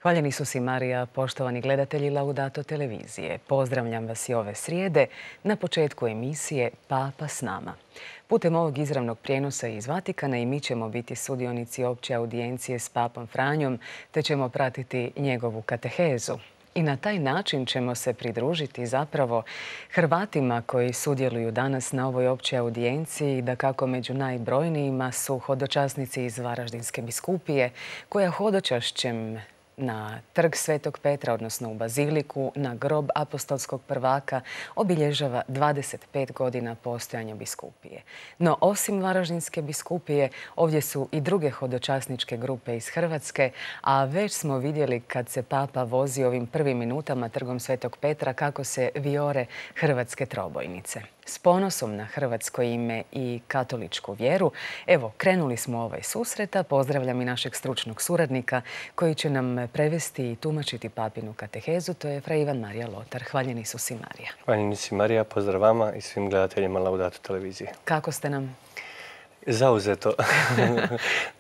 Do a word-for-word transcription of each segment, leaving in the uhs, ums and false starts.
Hvaljeni su si Marija, poštovani gledatelji Laudato televizije. Pozdravljam vas i ove srijede na početku emisije Papa s nama. Putem ovog izravnog prijenosa iz Vatikana i mi ćemo biti sudionici opće audijencije s Papom Franjom, te ćemo pratiti njegovu katehezu. I na taj način ćemo se pridružiti zapravo Hrvatima koji sudjeluju danas na ovoj općoj audijenciji, da kako među najbrojnijima su hodočasnici iz Varaždinske biskupije, koja hodočašćem na trg Svetog Petra, odnosno u Baziliku, na grob apostolskog prvaka, obilježava dvadeset pet godina postojanja biskupije. No, osim Varaždinske biskupije, ovdje su i druge hodočasničke grupe iz Hrvatske, a već smo vidjeli kad se Papa vozi ovim prvim minutama trgom Svetog Petra kako se vijore hrvatske trobojnice. S ponosom na hrvatsko ime i katoličku vjeru, evo, krenuli smo ovaj susreta. Pozdravljam i našeg stručnog suradnika koji će nam prevesti i tumačiti papinu katehezu, to je fra Ivan Marija Lotar. Hvaljeni su si Marija. Hvaljeni si Marija, pozdrav vama i svim gledateljima Laudato televizije. Kako ste nam? Zauzeto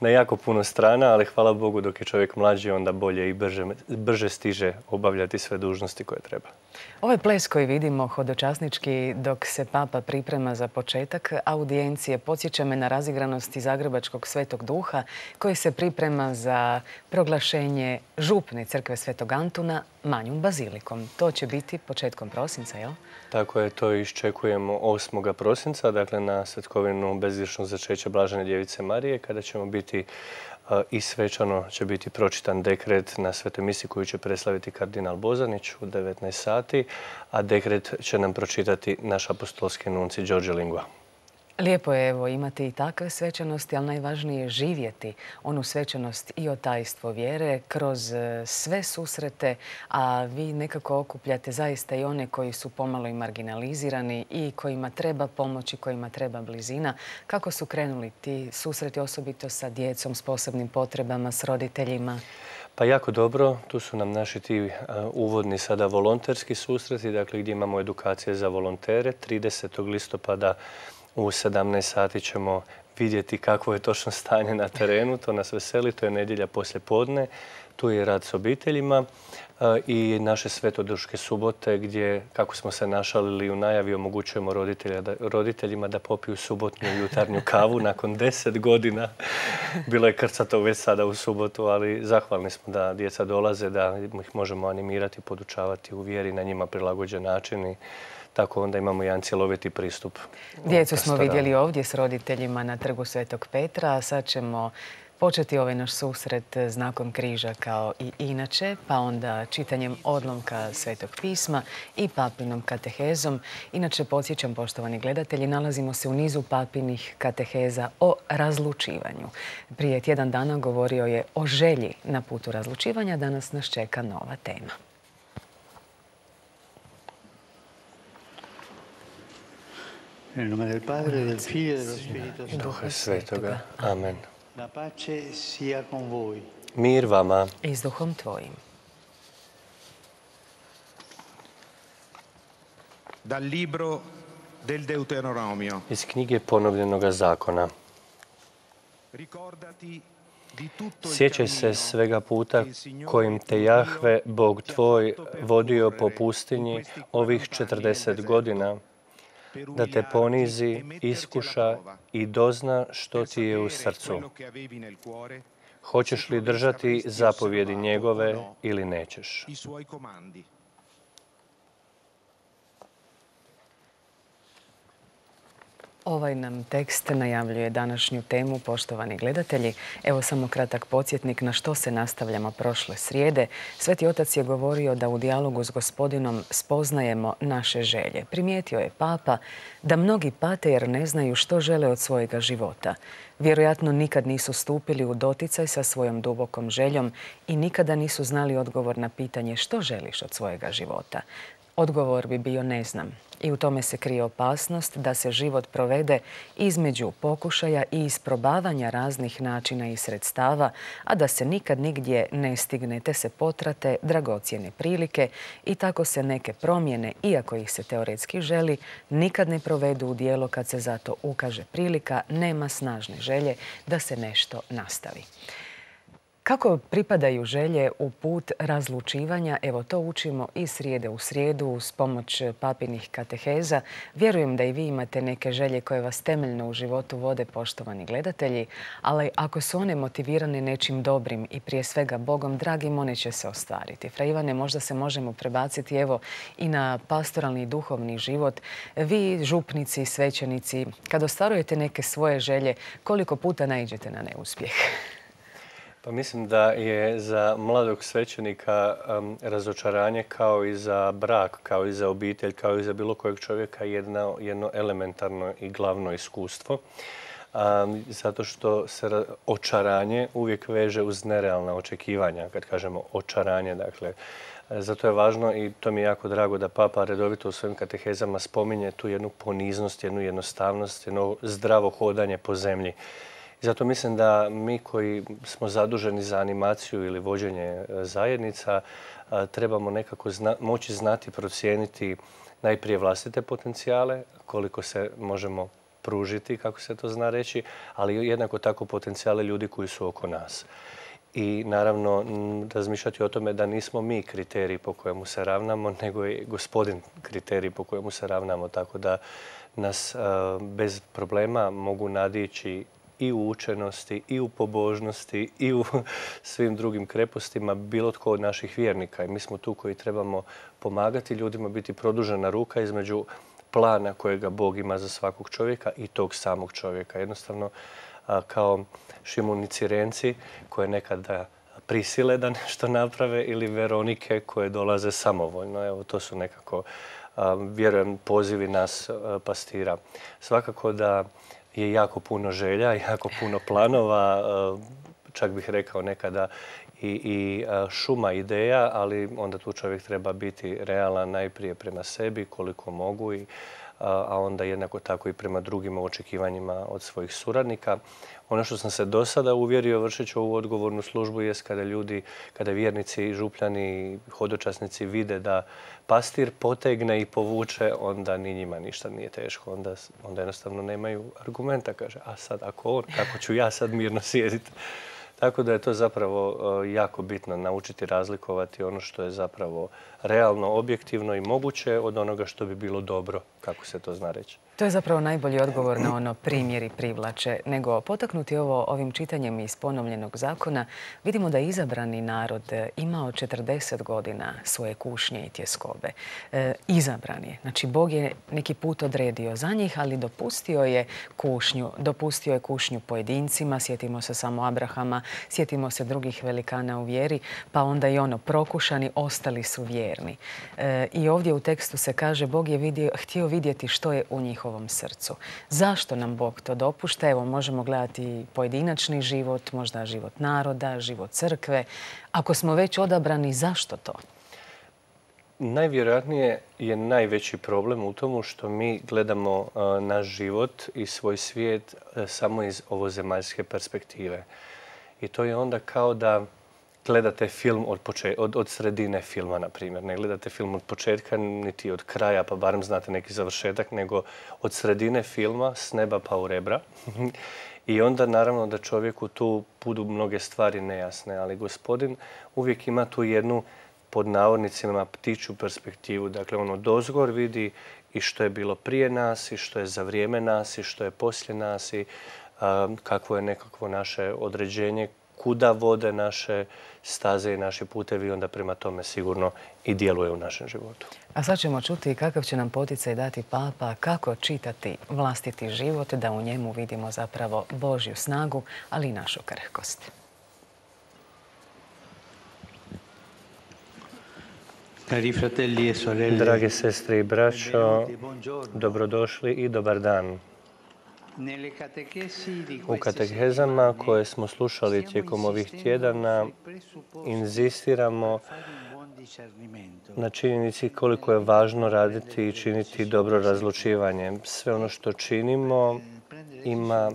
na jako puno strana, ali hvala Bogu dok je čovjek mlađi, onda bolje i brže, brže stiže obavljati sve dužnosti koje treba. Ovaj ples koji vidimo hodočasnički dok se Papa priprema za početak audijencije podsjeća me na razigranosti Zagrebačkog Svetog Duha koji se priprema za proglašenje župne crkve Svetog Antuna manjom bazilikom. To će biti početkom prosinca, jel? Tako je, to iščekujemo osmog prosinca, dakle na svetkovinu bezgrješnog začeća Blažene djevice Marije, kada ćemo biti i svečano će biti pročitan dekret na svetoj misi koju će preslaviti kardinal Bozanić u devetnaest sati, a dekret će nam pročitati naš apostolski nunci Đorđe Lingua. Lijepo je evo imati i takve svečanosti, ali najvažnije je živjeti onu svečanost i otajstvo vjere kroz sve susrete, a vi nekako okupljate zaista i one koji su pomalo i marginalizirani i kojima treba pomoć i kojima treba blizina. Kako su krenuli ti susreti, osobito sa djecom s posebnim potrebama, s roditeljima? Pa jako dobro, tu su nam naši ti uvodni sada volonterski susreti, dakle gdje imamo edukacije za volontere. tridesetog listopada u sedamnaest sati ćemo vidjeti kakvo je točno stanje na terenu. To nas veseli, to je nedjelja poslje podne. Tu je rad s obiteljima i naše svetoduške subote gdje, kako smo se našalili u najavi, omogućujemo roditeljima da popiju subotnju jutarnju kavu nakon deset godina. Bilo je krcato već sada u subotu, ali zahvalni smo da djeca dolaze, da ih možemo animirati, podučavati u vjeri na njima prilagođen način i tako onda imamo jedan cjeloviti pristup. Djecu smo vidjeli ovdje s roditeljima na trgu Svetog Petra, a sad ćemo početi ovaj naš susret znakom križa kao i inače, pa onda čitanjem odlomka Svetog pisma i papinom katehezom. Inače, podsjećam, poštovani gledatelji, nalazimo se u nizu papinih kateheza o razlučivanju. Prije tjedan dana govorio je o želji na putu razlučivanja, danas nas čeka nova tema. Nel nome del Padre, del Figlio e dello Spirito Santo. Duha Svetoga. Amen. La pace sia con voi. Mir vama. I s duhom tvojim. Dal libro del Deuteronomio. Iz knjige ponovljenoga zakona. Ricordati di tutto il Sjećaj se cammino svega puta che il Signore kojim te tuo Jahve, Dio Bog ti ha tvoj, fatto percorrere vodio po in pustinji questi ovih quaranta anni četrdeset nel godina, deserto, da te per ponizi, umiliarti e metterti alla iskuša prova, i dozna što per ti je u sapere srcu. quello che avevi nel cuore, Hoćeš li držati zapovjedi njegove ili nećeš? i suoi comandi. Ovaj nam tekst najavljuje današnju temu, poštovani gledatelji. Evo samo kratak podsjetnik na što se nastavljamo prošle srijede. Sveti Otac je govorio da u dijalogu s Gospodinom spoznajemo naše želje. Primijetio je Papa da mnogi pate jer ne znaju što žele od svojega života. Vjerojatno nikad nisu stupili u doticaj sa svojom dubokom željom i nikada nisu znali odgovor na pitanje što želiš od svojega života. Odgovor bi bio ne znam. I u tome se krije opasnost da se život provede između pokušaja i isprobavanja raznih načina i sredstava, a da se nikad nigdje ne stigne te se potrate dragocjene prilike i tako se neke promjene, iako ih se teoretski želi, nikad ne provedu u djelo kad se zato ukaže prilika, nema snažne želje da se nešto nastavi. Kako pripadaju želje u put razlučivanja? Evo, to učimo iz srijede u srijedu uz pomoć papinih kateheza. Vjerujem da i vi imate neke želje koje vas temeljno u životu vode, poštovani gledatelji, ali ako su one motivirane nečim dobrim i prije svega Bogom dragim, one će se ostvariti. Fra Ivane, možda se možemo prebaciti evo i na pastoralni i duhovni život. Vi, župnici, svećenici, kad ostvarujete neke svoje želje, koliko puta naiđete na neuspjeh? Pa mislim da je za mladog svećenika um, razočaranje kao i za brak, kao i za obitelj, kao i za bilo kojeg čovjeka jedno, jedno elementarno i glavno iskustvo. Um, zato što se očaranje uvijek veže uz nerealna očekivanja, kad kažemo očaranje. Dakle, zato je važno i to mi je jako drago da Papa redovito u svojim katehezama spominje tu jednu poniznost, jednu jednostavnost, jedno zdravo hodanje po zemlji. I zato mislim da mi koji smo zaduženi za animaciju ili vođenje zajednica trebamo nekako zna, moći znati, procijeniti najprije vlastite potencijale, koliko se možemo pružiti, kako se to zna reći, ali jednako tako potencijale ljudi koji su oko nas. I naravno razmišljati o tome da nismo mi kriteriji po kojemu se ravnamo, nego je Gospodin kriterij po kojemu se ravnamo, tako da nas bez problema mogu nadići i u učenosti, i u pobožnosti, i u svim drugim krepostima bilo tko od naših vjernika. I mi smo tu koji trebamo pomagati ljudima, biti produžena ruka između plana kojega Bog ima za svakog čovjeka i tog samog čovjeka. Jednostavno, kao Šimun i Cirenci koje nekada prisile da nešto naprave ili Veronike koje dolaze samovoljno. Evo, to su nekako, vjerujem, pozivi nas pastira. Svakako da je jako puno želja, jako puno planova, čak bih rekao nekada i, i šuma ideja, ali onda tu čovjek treba biti realan najprije prema sebi koliko mogu, i, a onda jednako tako i prema drugim očekivanjima od svojih suradnika. Ono što sam se do sada uvjerio vršeći ovu odgovornu službu jest kada ljudi, kada vjernici, župljani, hodočasnici vide da pastir potegne i povuče, onda ni njima ništa nije teško. Onda, onda jednostavno nemaju argumenta. Kaže, a sad ako on, kako ću ja sad mirno sjediti? Tako da je to zapravo jako bitno naučiti razlikovati ono što je zapravo realno, objektivno i moguće od onoga što bi bilo dobro, kako se to zna reći. To je zapravo najbolji odgovor na ono primjeri privlače. Nego potaknuti ovo ovim čitanjem iz ponovljenog zakona, vidimo da je izabrani narod imao četrdeset godina svoje kušnje i tjeskobe. E, izabran je. Znači, Bog je neki put odredio za njih, ali dopustio je kušnju. Dopustio je kušnju pojedincima, sjetimo se samo Abrahama, sjetimo se drugih velikana u vjeri, pa onda i ono prokušani, ostali su vjerni. E, I ovdje u tekstu se kaže, Bog je vidio, htio vidjeti što je u njih ovom srcu. Zašto nam Bog to dopušta? Evo, možemo gledati pojedinačni život, možda život naroda, život crkve. Ako smo već odabrani, zašto to? Najvjerojatnije je najveći problem u tomu što mi gledamo uh, naš život i svoj svijet uh, samo iz ovozemaljske perspektive. I to je onda kao da gledate film od, od, od sredine filma, na primjer. Ne gledate film od početka niti od kraja, pa barem znate neki završetak, nego od sredine filma s neba pa u rebra. I onda naravno da čovjeku tu budu mnoge stvari nejasne, ali Gospodin uvijek ima tu jednu, pod navodnicima, ptičju perspektivu. Dakle, ono dozgor vidi i što je bilo prije nas, i što je za vrijeme nas, i što je poslije nas, i a, kakvo je nekakvo naše određenje, kuda vode naše staze i naši putevi, onda prema tome sigurno i djeluje u našem životu. A sad ćemo čuti kakav će nam poticaj dati Papa, kako čitati vlastiti život, da u njemu vidimo zapravo Božju snagu, ali i našu krhkost. Drage sestre i braćo, dobrodošli i dobar dan. U katehezama koje smo slušali tijekom ovih tjedana inzistiramo na činjenici koliko je važno raditi i činiti dobro razlučivanje. Sve ono što činimo ima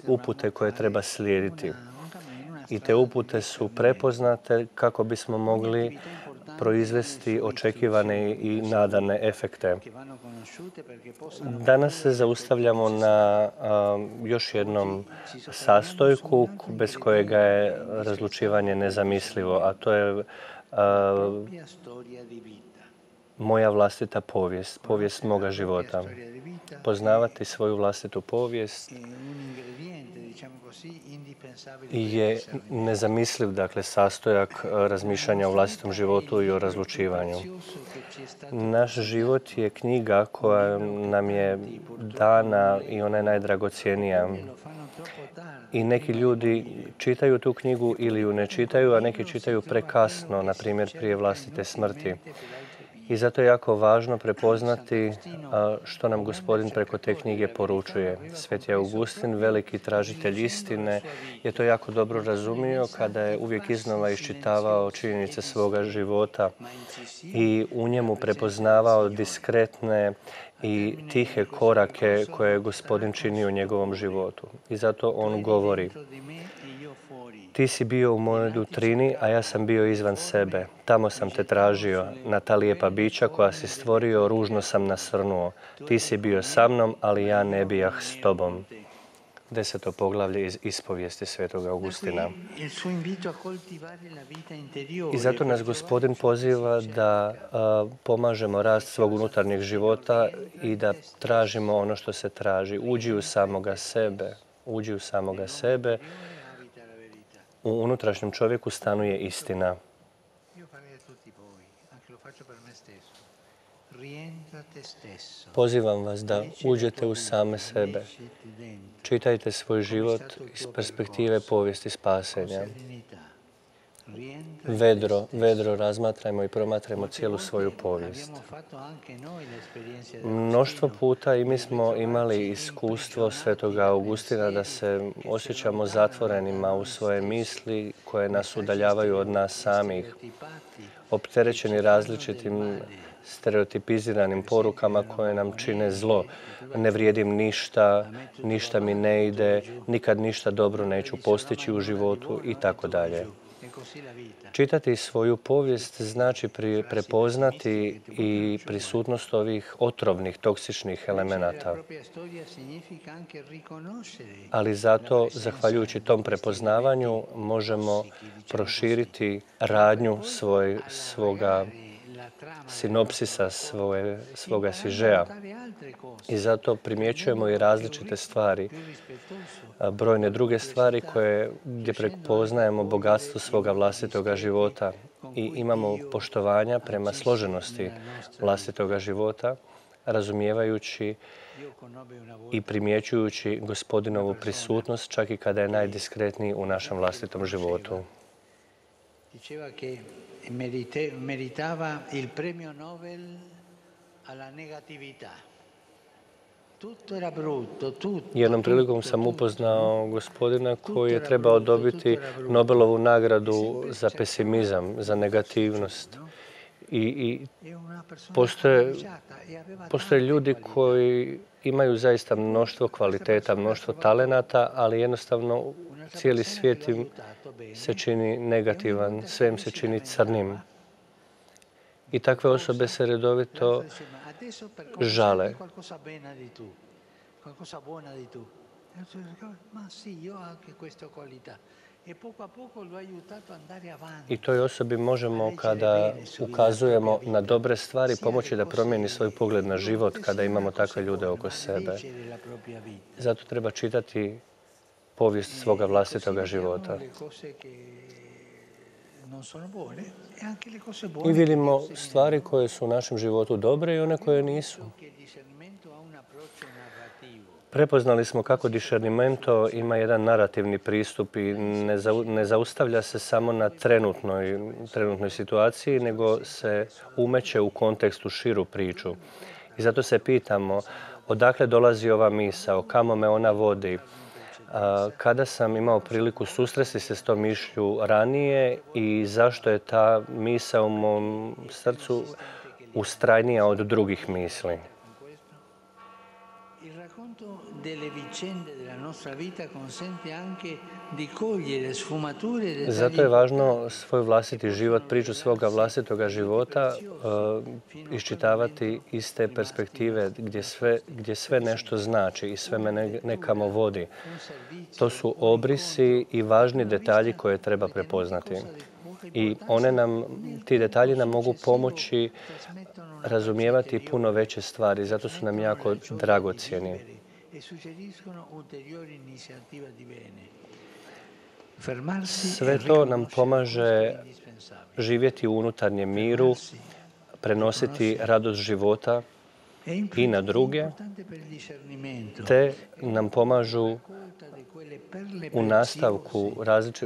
upute koje treba slijediti. I te upute su prepoznate kako bismo mogli proizvesti očekivane i nadane efekte. Danas se zaustavljamo na a, još jednom sastojku bez kojega je razlučivanje nezamislivo, a to je a, moja vlastita povijest, povijest moga života. Poznavati svoju vlastitu povijest je nezamisliv, dakle, sastojak razmišljanja o vlastitom životu i o razlučivanju. Naš život je knjiga koja nam je dana i ona je najdragocjenija. I neki ljudi čitaju tu knjigu ili ju ne čitaju, a neki čitaju prekasno, na primjer prije vlastite smrti. I zato je jako važno prepoznati što nam Gospodin preko te knjige poručuje. Sveti Augustin, veliki tražitelj istine, je to jako dobro razumio kada je uvijek iznova iščitavao činjenice svoga života i u njemu prepoznavao diskretne i tihe korake koje je Gospodin činio u njegovom životu. I zato on govori: ti si bio u mojoj dutrini, a ja sam bio izvan sebe. Tamo sam te tražio, na ta lijepa bića koja si stvorio, ružno sam nasrnuo. Ti si bio sa mnom, ali ja ne bijah s tobom. Deseto poglavlje iz ispovijesti Svetog Augustina. I zato nas Gospodin poziva da a, pomažemo rast svog unutarnjeg života i da tražimo ono što se traži. Uđi u samoga sebe. Uđi u samoga sebe. U unutrašnjem čovjeku stanuje istina. Pozivam vas da uđete u same sebe. Čitajte svoj život iz perspektive povijesti spasenja. Vedro, vedro razmatrajmo i promatrajmo cijelu svoju povijest. Mnoštvo puta i mi smo imali iskustvo Svetoga Augustina da se osjećamo zatvorenima u svoje misli koje nas udaljavaju od nas samih, opterećeni različitim stereotipiziranim porukama koje nam čine zlo. Ne vrijedim ništa, ništa mi ne ide, nikad ništa dobro neću postići u životu i tako dalje. Čitati svoju povijest znači prepoznati i prisutnost ovih otrovnih, toksičnih elemenata. Ali zato, zahvaljujući tom prepoznavanju, možemo proširiti radnju svoj, svoga sinopsisa, svoje, svoga sižeja. I zato primjećujemo i različite stvari, brojne druge stvari koje, gdje prepoznajemo bogatstvo svoga vlastitoga života i imamo poštovanja prema složenosti vlastitoga života, razumijevajući i primjećujući Gospodinovu prisutnost čak i kada je najdiskretniji u našem vlastitom životu. Meritava il premio Nobel alla negatività. Jednom prilikom sam upoznao gospodina koji je trebao dobiti Nobelovu nagradu za pesimizam, za negativnost. I, i postoje, postoje ljudi koji imaju zaista mnoštvo kvaliteta, mnoštvo talenata, ali jednostavno cijeli svijet im se čini negativan, sve im se čini crnim. I takve osobe se redovito žale. I toj osobi možemo, kada ukazujemo na dobre stvari, pomoći da promijeni svoj pogled na život kada imamo takve ljude oko sebe. Zato treba čitati povijest svoga vlastitoga života. I vidimo stvari koje su u našem životu dobre i one koje nisu. Prepoznali smo kako discernimento ima jedan narativni pristup i ne, za, ne zaustavlja se samo na trenutnoj, trenutnoj situaciji, nego se umeće u kontekstu širu priču. I zato se pitamo odakle dolazi ova misao, kamo me ona vodi. Kada sam imao priliku susresti se s tom mišlju ranije i zašto je ta misao u mom srcu ustrajnija od drugih misli. Zato je važno svoj vlastiti život, priču svoga vlastitoga života uh, iščitavati iz te perspektive gdje sve, gdje sve nešto znači i sve me ne, nekamo vodi. To su obrisi i važni detalji koje treba prepoznati. I one nam, ti detalji nam mogu pomoći razumijevati puno veće stvari, zato su nam jako dragocjeni. Sve to nam pomaže živjeti u unutarnjem miru, prenositi radost života i na druge, te nam pomažu u nastavku,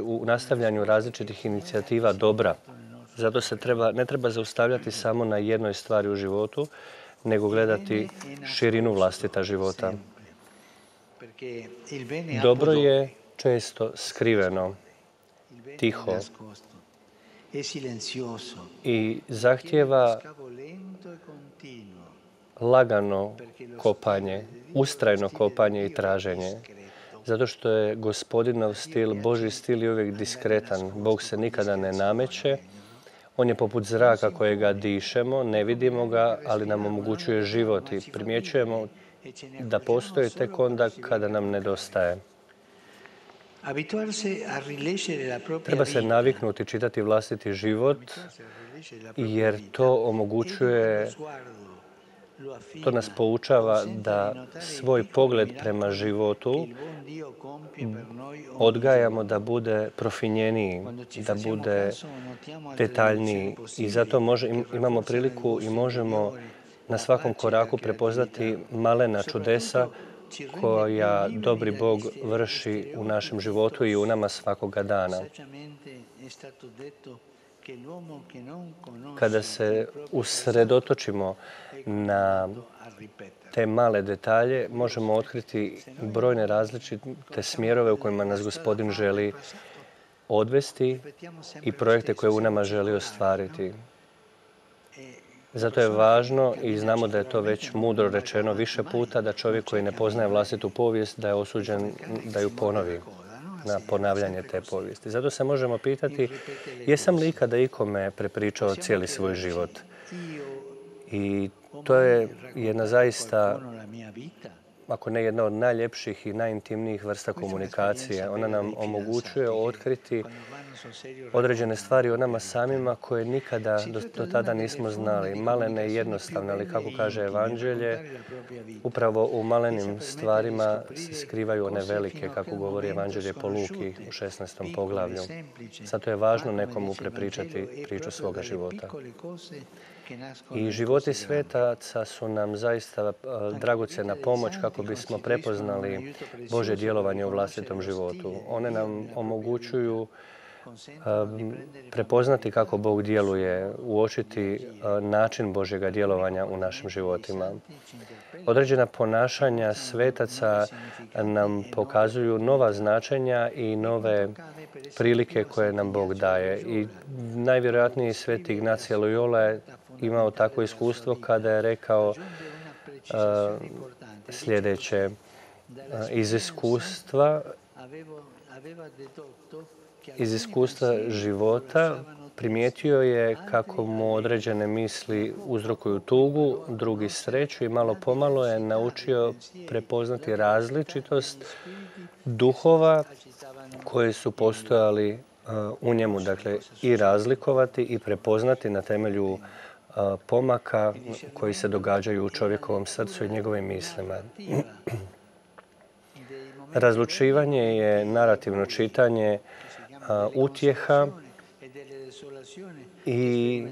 u nastavljanju različitih inicijativa dobra. Zato se treba, ne treba zaustavljati samo na jednoj stvari u životu, nego gledati širinu vlastita života. Dobro je često skriveno, tiho i zahtijeva lagano kopanje, ustrajno kopanje i traženje. Zato što je Gospodinov stil, Božji stil je uvijek diskretan. Bog se nikada ne nameće. On je poput zraka kojega dišemo, ne vidimo ga, ali nam omogućuje život i primjećujemo da postoji tek onda kada nam nedostaje. Treba se naviknuti čitati vlastiti život, jer to omogućuje, to nas poučava da svoj pogled prema životu odgajamo da bude profinjeniji, da bude detaljniji. I zato može, imamo priliku i možemo na svakom koraku prepoznati malena čudesa koja dobri Bog vrši u našem životu i u nama svakoga dana. Kada se usredotočimo na te male detalje, možemo otkriti brojne različite smjerove u kojima nas Gospodin želi odvesti i projekte koje u nama želi ostvariti. Zato je važno i znamo da je to već mudro rečeno više puta, da čovjek koji ne poznaje vlastitu povijest, da je osuđen da ju ponovi, na ponavljanje te povijesti. Zato se možemo pitati, jesam li ikada ikome prepričao cijeli svoj život? I to je jedna zaista, ako ne jedna od najljepših i najintimnijih vrsta komunikacije. Ona nam omogućuje otkriti određene stvari o nama samima koje nikada do, do tada nismo znali. Malene i jednostavne, ali kako kaže Evanđelje, upravo u malenim stvarima se skrivaju one velike, kako govori Evanđelje po Luki u šesnaestom poglavlju. Zato je važno nekomu prepričati priču svoga života. I životi svetaca su nam zaista dragocjena pomoć kako bismo prepoznali Božje djelovanje u vlastitom životu. One nam omogućuju prepoznati kako Bog djeluje, uočiti način Božjega djelovanja u našim životima. Određena ponašanja svetaca nam pokazuju nova značenja i nove prilike koje nam Bog daje. I najvjerojatniji sveti Ignacije Loyola je imao takvo iskustvo kada je rekao uh, sljedeće uh, iz iskustva iz iskustva života primijetio je kako mu određene misli uzrokuju tugu, drugi sreću i malo pomalo je naučio prepoznati različitost duhova koji su postojali uh, u njemu, dakle i razlikovati i prepoznati na temelju uh, pomaka koji se događaju u čovjekovom srcu i njegovim mislima. Razlučivanje je narativno čitanje uh, utjeha i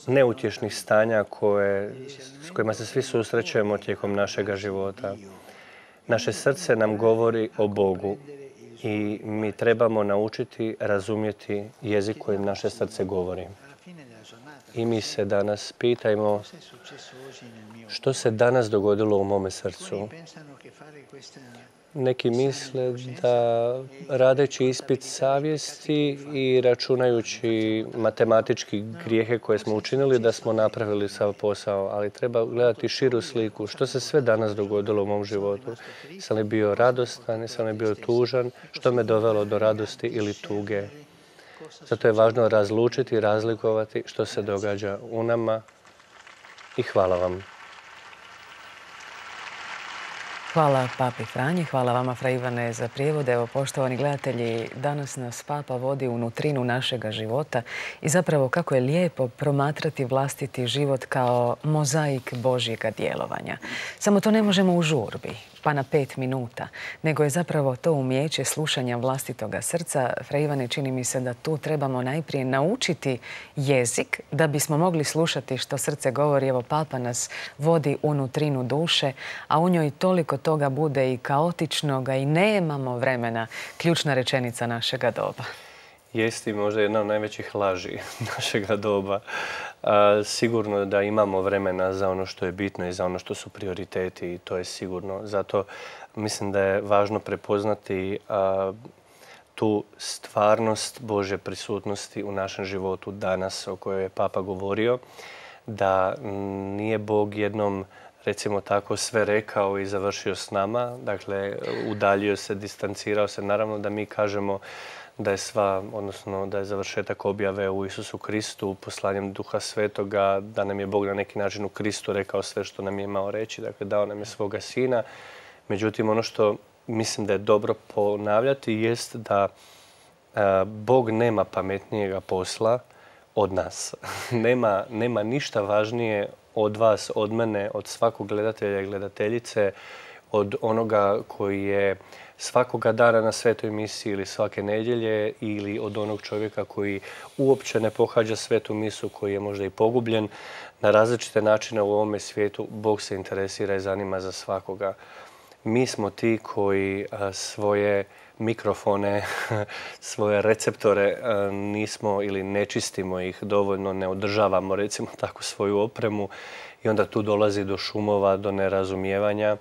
neutješnih stanja koje, s kojima se svi susrećemo tijekom našega života. Naše srce nam govori o Bogu i mi trebamo naučiti razumjeti jezik kojim naše srce govori. I mi se danas pitajmo što se danas dogodilo u mome srcu. neki misle da radeći ispit savjesti i računajući matematički grijehe koje smo učinili da smo napravili sav posao, ali treba gledati širu sliku. Što se sve danas dogodilo u mom životu? Sam li bio radostan, sam li bio tužan? Što me dovelo do radosti ili tuge? Zato je važno razlučiti, razlikovati što se događa u nama i hvala vam. Hvala Papi Franji, hvala vama Fra Ivane za prijevod. Evo, poštovani gledatelji, danas nas Papa vodi u nutrinu našega života i zapravo kako je lijepo promatrati vlastiti život kao mozaik Božjega djelovanja. Samo to ne možemo u žurbi, pa na pet minuta, nego je zapravo to umijeće slušanja vlastitoga srca. Fra Ivane, čini mi se da tu trebamo najprije naučiti jezik da bismo mogli slušati što srce govori. Evo, Papa nas vodi u nutrinu duše, a u njoj toliko toga bude i kaotičnoga i nemamo vremena. Ključna rečenica našega doba. Jesti možda jedna od najvećih laži našega doba. A, sigurno da imamo vremena za ono što je bitno i za ono što su prioriteti i to je sigurno. Zato mislim da je važno prepoznati a, tu stvarnost Božje prisutnosti u našem životu danas o kojoj je Papa govorio. Da nije Bog jednom, recimo tako, sve rekao i završio s nama. Dakle, udaljio se, distancirao se. Naravno da mi kažemo da je sva, odnosno da je završetak objave u Isusu Kristu, poslanjem Duha Svetoga, da nam je Bog na neki način u Kristu rekao sve što nam je imao reći. Dakle, dao nam je svoga Sina. Međutim, ono što mislim da je dobro ponavljati jest da a, Bog nema pametnijega posla od nas. nema, nema ništa važnije od vas, od mene, od svakog gledatelja i gledateljice, od onoga koji je svakoga dana na svetoj misiji ili svake nedjelje ili od onog čovjeka koji uopće ne pohađa svetu misu, koji je možda i pogubljen na različite načine u ovome svijetu. Bog se interesira i zanima za svakoga. Mi smo ti koji svoje mikrofone, svoje receptore nismo ili ne čistimo ih dovoljno, ne održavamo recimo tako svoju opremu i onda tu dolazi do šumova, do nerazumijevanja.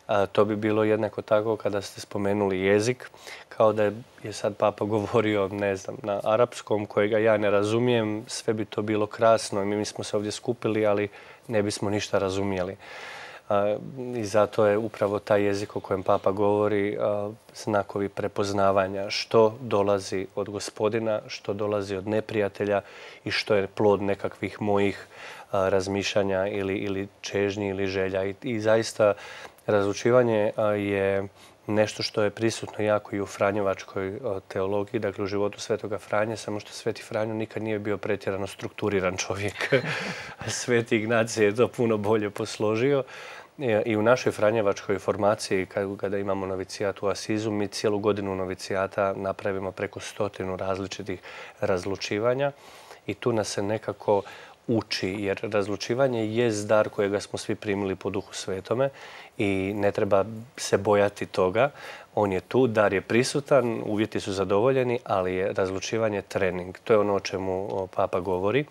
A to bi bilo jednako tako kada ste spomenuli jezik, kao da je sad Papa govorio, ne znam, na arapskom kojega ja ne razumijem, sve bi to bilo krasno i mi smo se ovdje skupili, ali ne bismo ništa razumjeli. A, I zato je upravo taj jezik o kojem Papa govori a, znakovi prepoznavanja što dolazi od Gospodina, što dolazi od neprijatelja i što je plod nekakvih mojih a, razmišljanja ili, ili čežnji ili želja. I, i zaista razlučivanje je nešto što je prisutno jako i u franjevačkoj teologiji, dakle u životu Svetoga Franje, samo što Sveti Franjo nikad nije bio pretjerano strukturiran čovjek. Sveti Ignacij je to puno bolje posložio. I u našoj franjevačkoj formaciji, kada imamo novicijat u Asizu, mi cijelu godinu novicijata napravimo preko stotinu različitih razlučivanja i tu nas se nekako uči, jer razlučivanje je dar kojega smo svi primili po Duhu Svetome i ne treba se bojati toga. On je tu, dar je prisutan, uvjeti su zadovoljeni, ali je razlučivanje trening. To je ono o čemu Papa govori,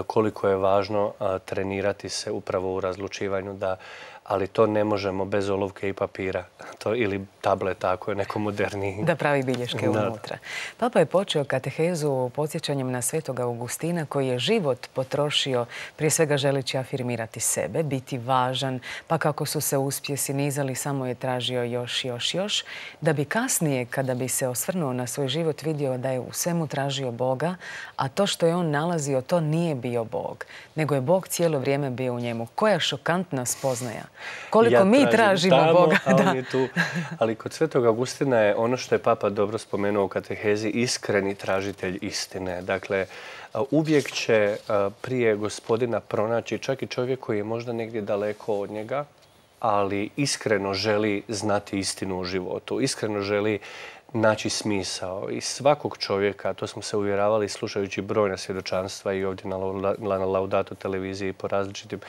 koliko je važno trenirati se upravo u razlučivanju, da, ali to ne možemo bez olovke i papira to, ili tableta ako je neko moderniji. Da pravi bilješke unutra. Papa je počeo katehezu podsjećanjem na Svetoga Augustina koji je život potrošio prije svega želeći afirmirati sebe, biti važan, pa kako su se uspjesi nizali samo je tražio još, još, još, da bi kasnije kada bi se osvrnuo na svoj život vidio da je u svemu tražio Boga, a to što je on nalazio to nije bio Bog, nego je Bog cijelo vrijeme bio u njemu. Koja šokantna spoznaja. Koliko ja mi tražimo tamo, Boga. A on da. je tu. Ali kod Svetog Augustina je ono što je Papa dobro spomenuo u katehezi iskreni tražitelj istine. Dakle, uvijek će prije Gospodina pronaći čak i čovjek koji je možda negdje daleko od njega, ali iskreno želi znati istinu u životu. Iskreno želi naći smisao. I svakog čovjeka, to smo se uvjeravali slušajući brojna svjedočanstva i ovdje na Laudato televiziji po različitim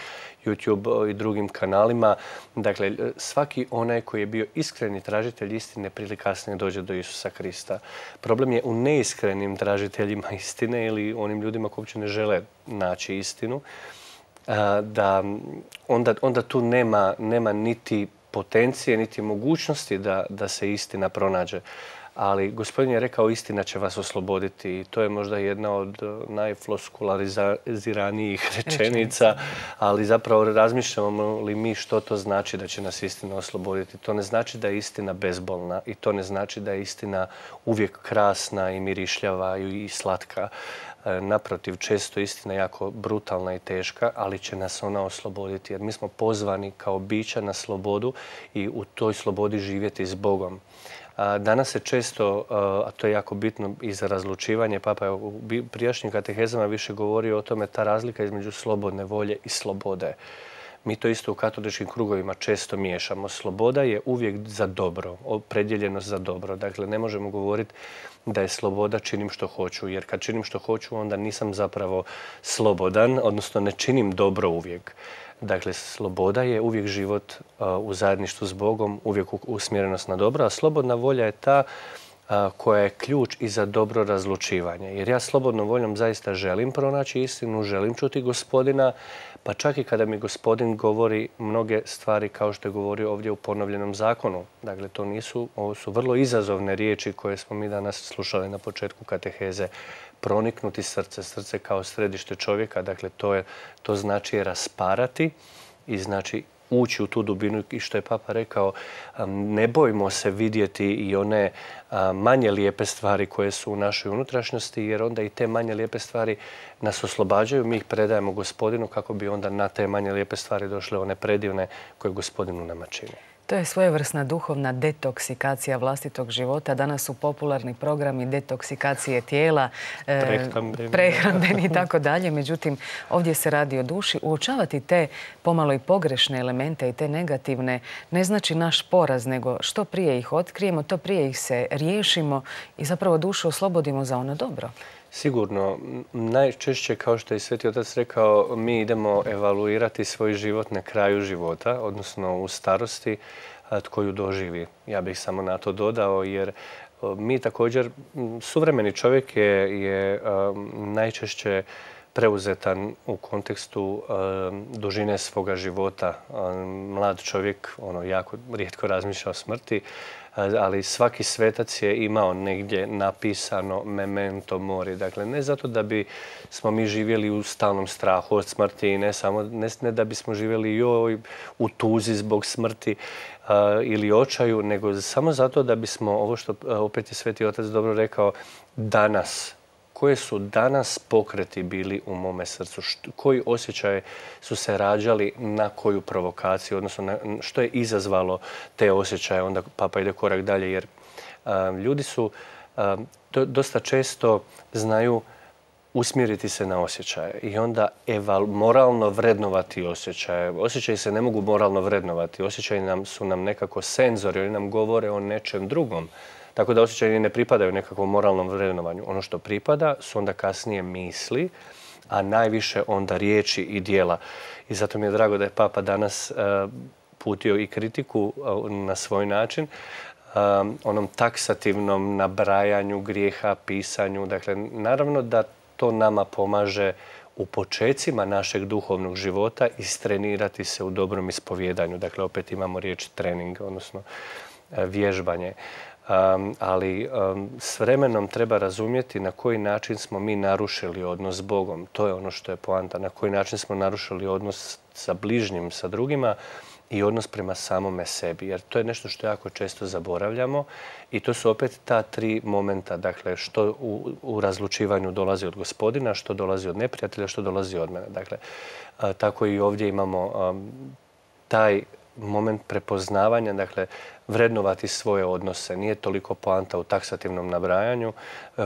YouTube i drugim kanalima. Dakle, svaki onaj koji je bio iskreni tražitelj istine prije ili kasnije dođe do Isusa Krista. Problem je u neiskrenim tražiteljima istine ili onim ljudima koji uopće ne žele naći istinu, da onda, onda tu nema, nema niti potencije, niti mogućnosti da, da se istina pronađe. Ali Gospodin je rekao istina će vas osloboditi i to je možda jedna od najfloskulariziranijih rečenica, ali zapravo razmišljamo li mi što to znači da će nas istina osloboditi. To ne znači da je istina bezbolna i to ne znači da je istina uvijek krasna i mirišljava i slatka. Naprotiv, često istina je jako brutalna i teška, ali će nas ona osloboditi jer mi smo pozvani kao bića na slobodu i u toj slobodi živjeti s Bogom. Danas se često, a to je jako bitno i za razlučivanje, Papa je u prijašnjim katehezama više govorio o tome, ta razlika između slobodne volje i slobode. Mi to isto u katoličkim krugovima često miješamo. Sloboda je uvijek za dobro, opredjeljenost za dobro. Dakle, ne možemo govoriti da je sloboda činim što hoću, jer kad činim što hoću, onda nisam zapravo slobodan, odnosno ne činim dobro uvijek. Dakle, sloboda je uvijek život u zajedništvu s Bogom, uvijek usmjerenost na dobro, a slobodna volja je ta koja je ključ i za dobro razlučivanje. Jer ja slobodnom voljom zaista želim pronaći istinu, želim čuti Gospodina, pa čak i kada mi Gospodin govori mnoge stvari kao što je govorio ovdje u ponovljenom zakonu. Dakle, to nisu, ovo su vrlo izazovne riječi koje smo mi danas slušali na početku kateheze. Proniknuti srce, srce kao središte čovjeka, dakle to, je, to znači rasparati i znači ući u tu dubinu i što je Papa rekao, ne bojmo se vidjeti i one manje lijepe stvari koje su u našoj unutrašnjosti, jer onda i te manje lijepe stvari nas oslobađaju, mi ih predajemo Gospodinu kako bi onda na te manje lijepe stvari došle one predivne koje Gospodinu nama čini. To je svojevrsna duhovna detoksikacija vlastitog života. Danas su popularni programi detoksikacije tijela, prehrambeni i tako dalje. Međutim, ovdje se radi o duši. Uočavati te pomalo i pogrešne elemente i te negativne ne znači naš poraz, nego što prije ih otkrijemo, to prije ih se riješimo i zapravo dušu oslobodimo za ono dobro. Sigurno. Najčešće, kao što je Sveti Otac rekao, mi idemo evaluirati svoj život na kraju života, odnosno u starosti, tko ju doživi. Ja bih samo na to dodao, jer mi također, suvremeni čovjek je, je najčešće preuzetan u kontekstu dužine svoga života. Mlad čovjek ono, jako rijetko razmišlja o smrti, ali svaki svetac je imao negdje napisano memento mori. Dakle, ne zato da bi smo mi živjeli u stalnom strahu od smrti i ne samo ne, ne da bismo živjeli joj u tuzi zbog smrti uh, ili očaju, nego samo zato da bismo, ovo što opet je Sveti Otac dobro rekao, danas, koje su danas pokreti bili u mome srcu, što, koji osjećaje su se rađali na koju provokaciju, odnosno na, što je izazvalo te osjećaje. Onda Papa ide korak dalje, jer a, ljudi su a, do, dosta često znaju usmjeriti se na osjećaje i onda eval, moralno vrednovati osjećaje. Osjećaji se ne mogu moralno vrednovati. Osjećaji nam, su nam nekako senzori, oni nam govore o nečem drugom. Tako da osjećaji ne pripadaju nekakvom moralnom vrednovanju. Ono što pripada su onda kasnije misli, a najviše onda riječi i djela. I zato mi je drago da je Papa danas uh, putio i kritiku uh, na svoj način, um, onom taksativnom nabrajanju grijeha, pisanju. Dakle, naravno da to nama pomaže u počecima našeg duhovnog života istrenirati se u dobrom ispovjedanju. Dakle, opet imamo riječ trening, odnosno uh, vježbanje. Um, ali um, s vremenom treba razumjeti na koji način smo mi narušili odnos s Bogom. To je ono što je poanta. Na koji način smo narušili odnos sa bližnjim, sa drugima i odnos prema samome sebi. Jer to je nešto što jako često zaboravljamo i to su opet ta tri momenta. Dakle, što u, u razlučivanju dolazi od Gospodina, što dolazi od neprijatelja, što dolazi od mene. Dakle, a, tako i ovdje imamo um, taj moment prepoznavanja, dakle, vrednovati svoje odnose. Nije toliko poanta u taksativnom nabrajanju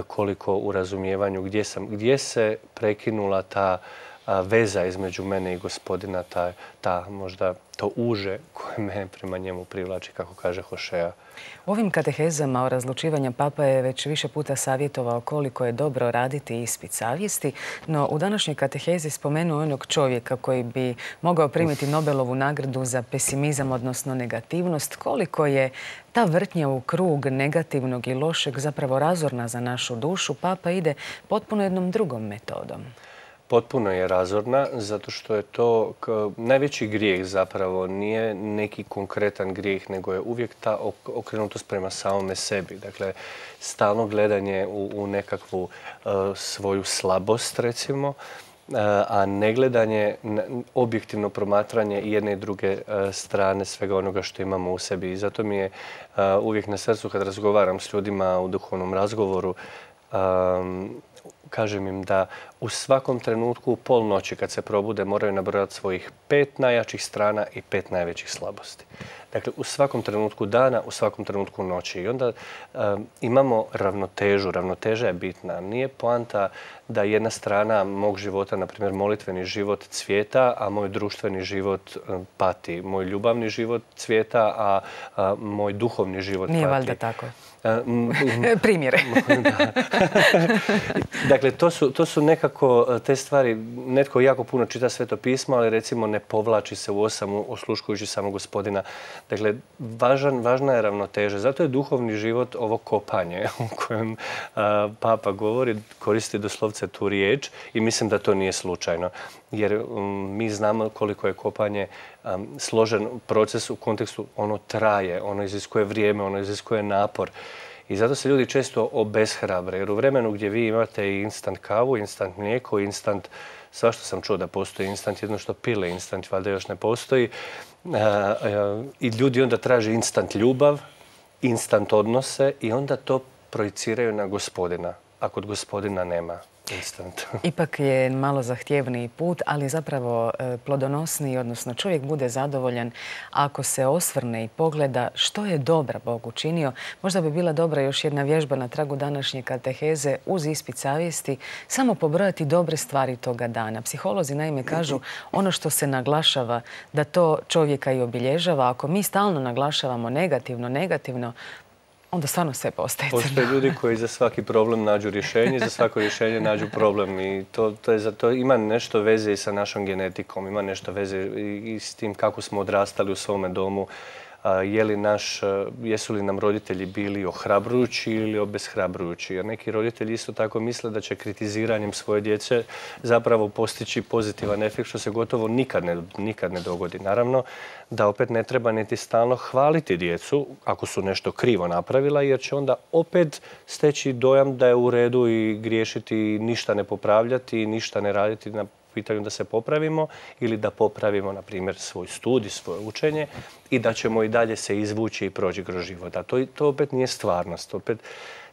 koliko u razumijevanju gdje, sam, gdje se prekinula ta veza između mene i Gospodina, ta, ta možda to uže koje me prema njemu privlači, kako kaže Hošea. U ovim katehezama o razlučivanju Papa je već više puta savjetovao koliko je dobro raditi ispit savjesti, no u današnjoj katehezi spomenuo onog čovjeka koji bi mogao primiti Nobelovu nagradu za pesimizam, odnosno negativnost. Koliko je ta vrtnja u krug negativnog i lošeg zapravo razorna za našu dušu, Papa ide potpuno jednom drugom metodom. potpuno je razorna, zato što je to najveći grijeh zapravo nije neki konkretan grijeh, nego je uvijek ta okrenutost prema samome sebi. Dakle, stalno gledanje u, u nekakvu uh, svoju slabost, recimo, uh, a ne gledanje, objektivno promatranje jedne i druge uh, strane svega onoga što imamo u sebi. I zato mi je uh, uvijek na srcu kad razgovaram s ljudima u duhovnom razgovoru, um, kažem im da u svakom trenutku u pol noći kad se probude moraju nabrojati svojih pet najjačih strana i pet najvećih slabosti. Dakle, u svakom trenutku dana, u svakom trenutku noći. I onda um, imamo ravnotežu. Ravnoteža je bitna. Nije poanta da jedna strana mog života, na primjer molitveni život, cvijeta, a moj društveni život um, pati. Moj ljubavni život cvijeta, a, a moj duhovni život Nije pati. Nije valjda tako. Um, Primjere. Dakle, to su, to su nekako te stvari, netko jako puno čita Sveto pismo, ali recimo ne povlači se u osamu osluškujući samo Gospodina. Dakle, važan, važna je ravnoteža. Zato je duhovni život ovo kopanje o kojem a, Papa govori, koristi doslovce tu riječ i mislim da to nije slučajno. Jer um, mi znamo koliko je kopanje um, složen proces u kontekstu, ono traje, ono iziskuje vrijeme, ono iziskuje napor. I zato se ljudi često obeshrabre, jer u vremenu gdje vi imate i instant kavu, instant mlijeko, instant, svašta sam čuo da postoji instant, jedno što pile instant, valjda još ne postoji, uh, uh, i ljudi onda traže instant ljubav, instant odnose i onda to projiciraju na Gospodina, a kod Gospodina nema instant. Ipak je malo zahtjevniji put, ali zapravo plodonosniji, odnosno čovjek bude zadovoljan ako se osvrne i pogleda što je dobra Bog učinio. Možda bi bila dobra još jedna vježba na tragu današnje kateheze uz ispit savjesti, samo pobrojati dobre stvari toga dana. Psiholozi naime kažu ono što se naglašava da to čovjeka i obilježava. Ako mi stalno naglašavamo negativno, negativno, onda stvarno sve postaje crno. Postoje ljudi koji za svaki problem nađu rješenje, za svako rješenje nađu problem. I to, to, je, to ima nešto veze i sa našom genetikom, ima nešto veze i, i s tim kako smo odrastali u svome domu. A, je li naš, jesu li nam roditelji bili ohrabrujući ili obeshrabrujući? Jer neki roditelji isto tako misle da će kritiziranjem svoje djece zapravo postići pozitivan efekt, što se gotovo nikad ne, nikad ne dogodi. Naravno da opet ne treba niti stalno hvaliti djecu ako su nešto krivo napravila, jer će onda opet steći dojam da je u redu i griješiti, ništa ne popravljati, ništa ne raditi na pitanju da se popravimo ili da popravimo, na primjer, svoj studij, svoje učenje i da ćemo i dalje se izvući i proći kroz život. A to, to opet nije stvarnost. Opet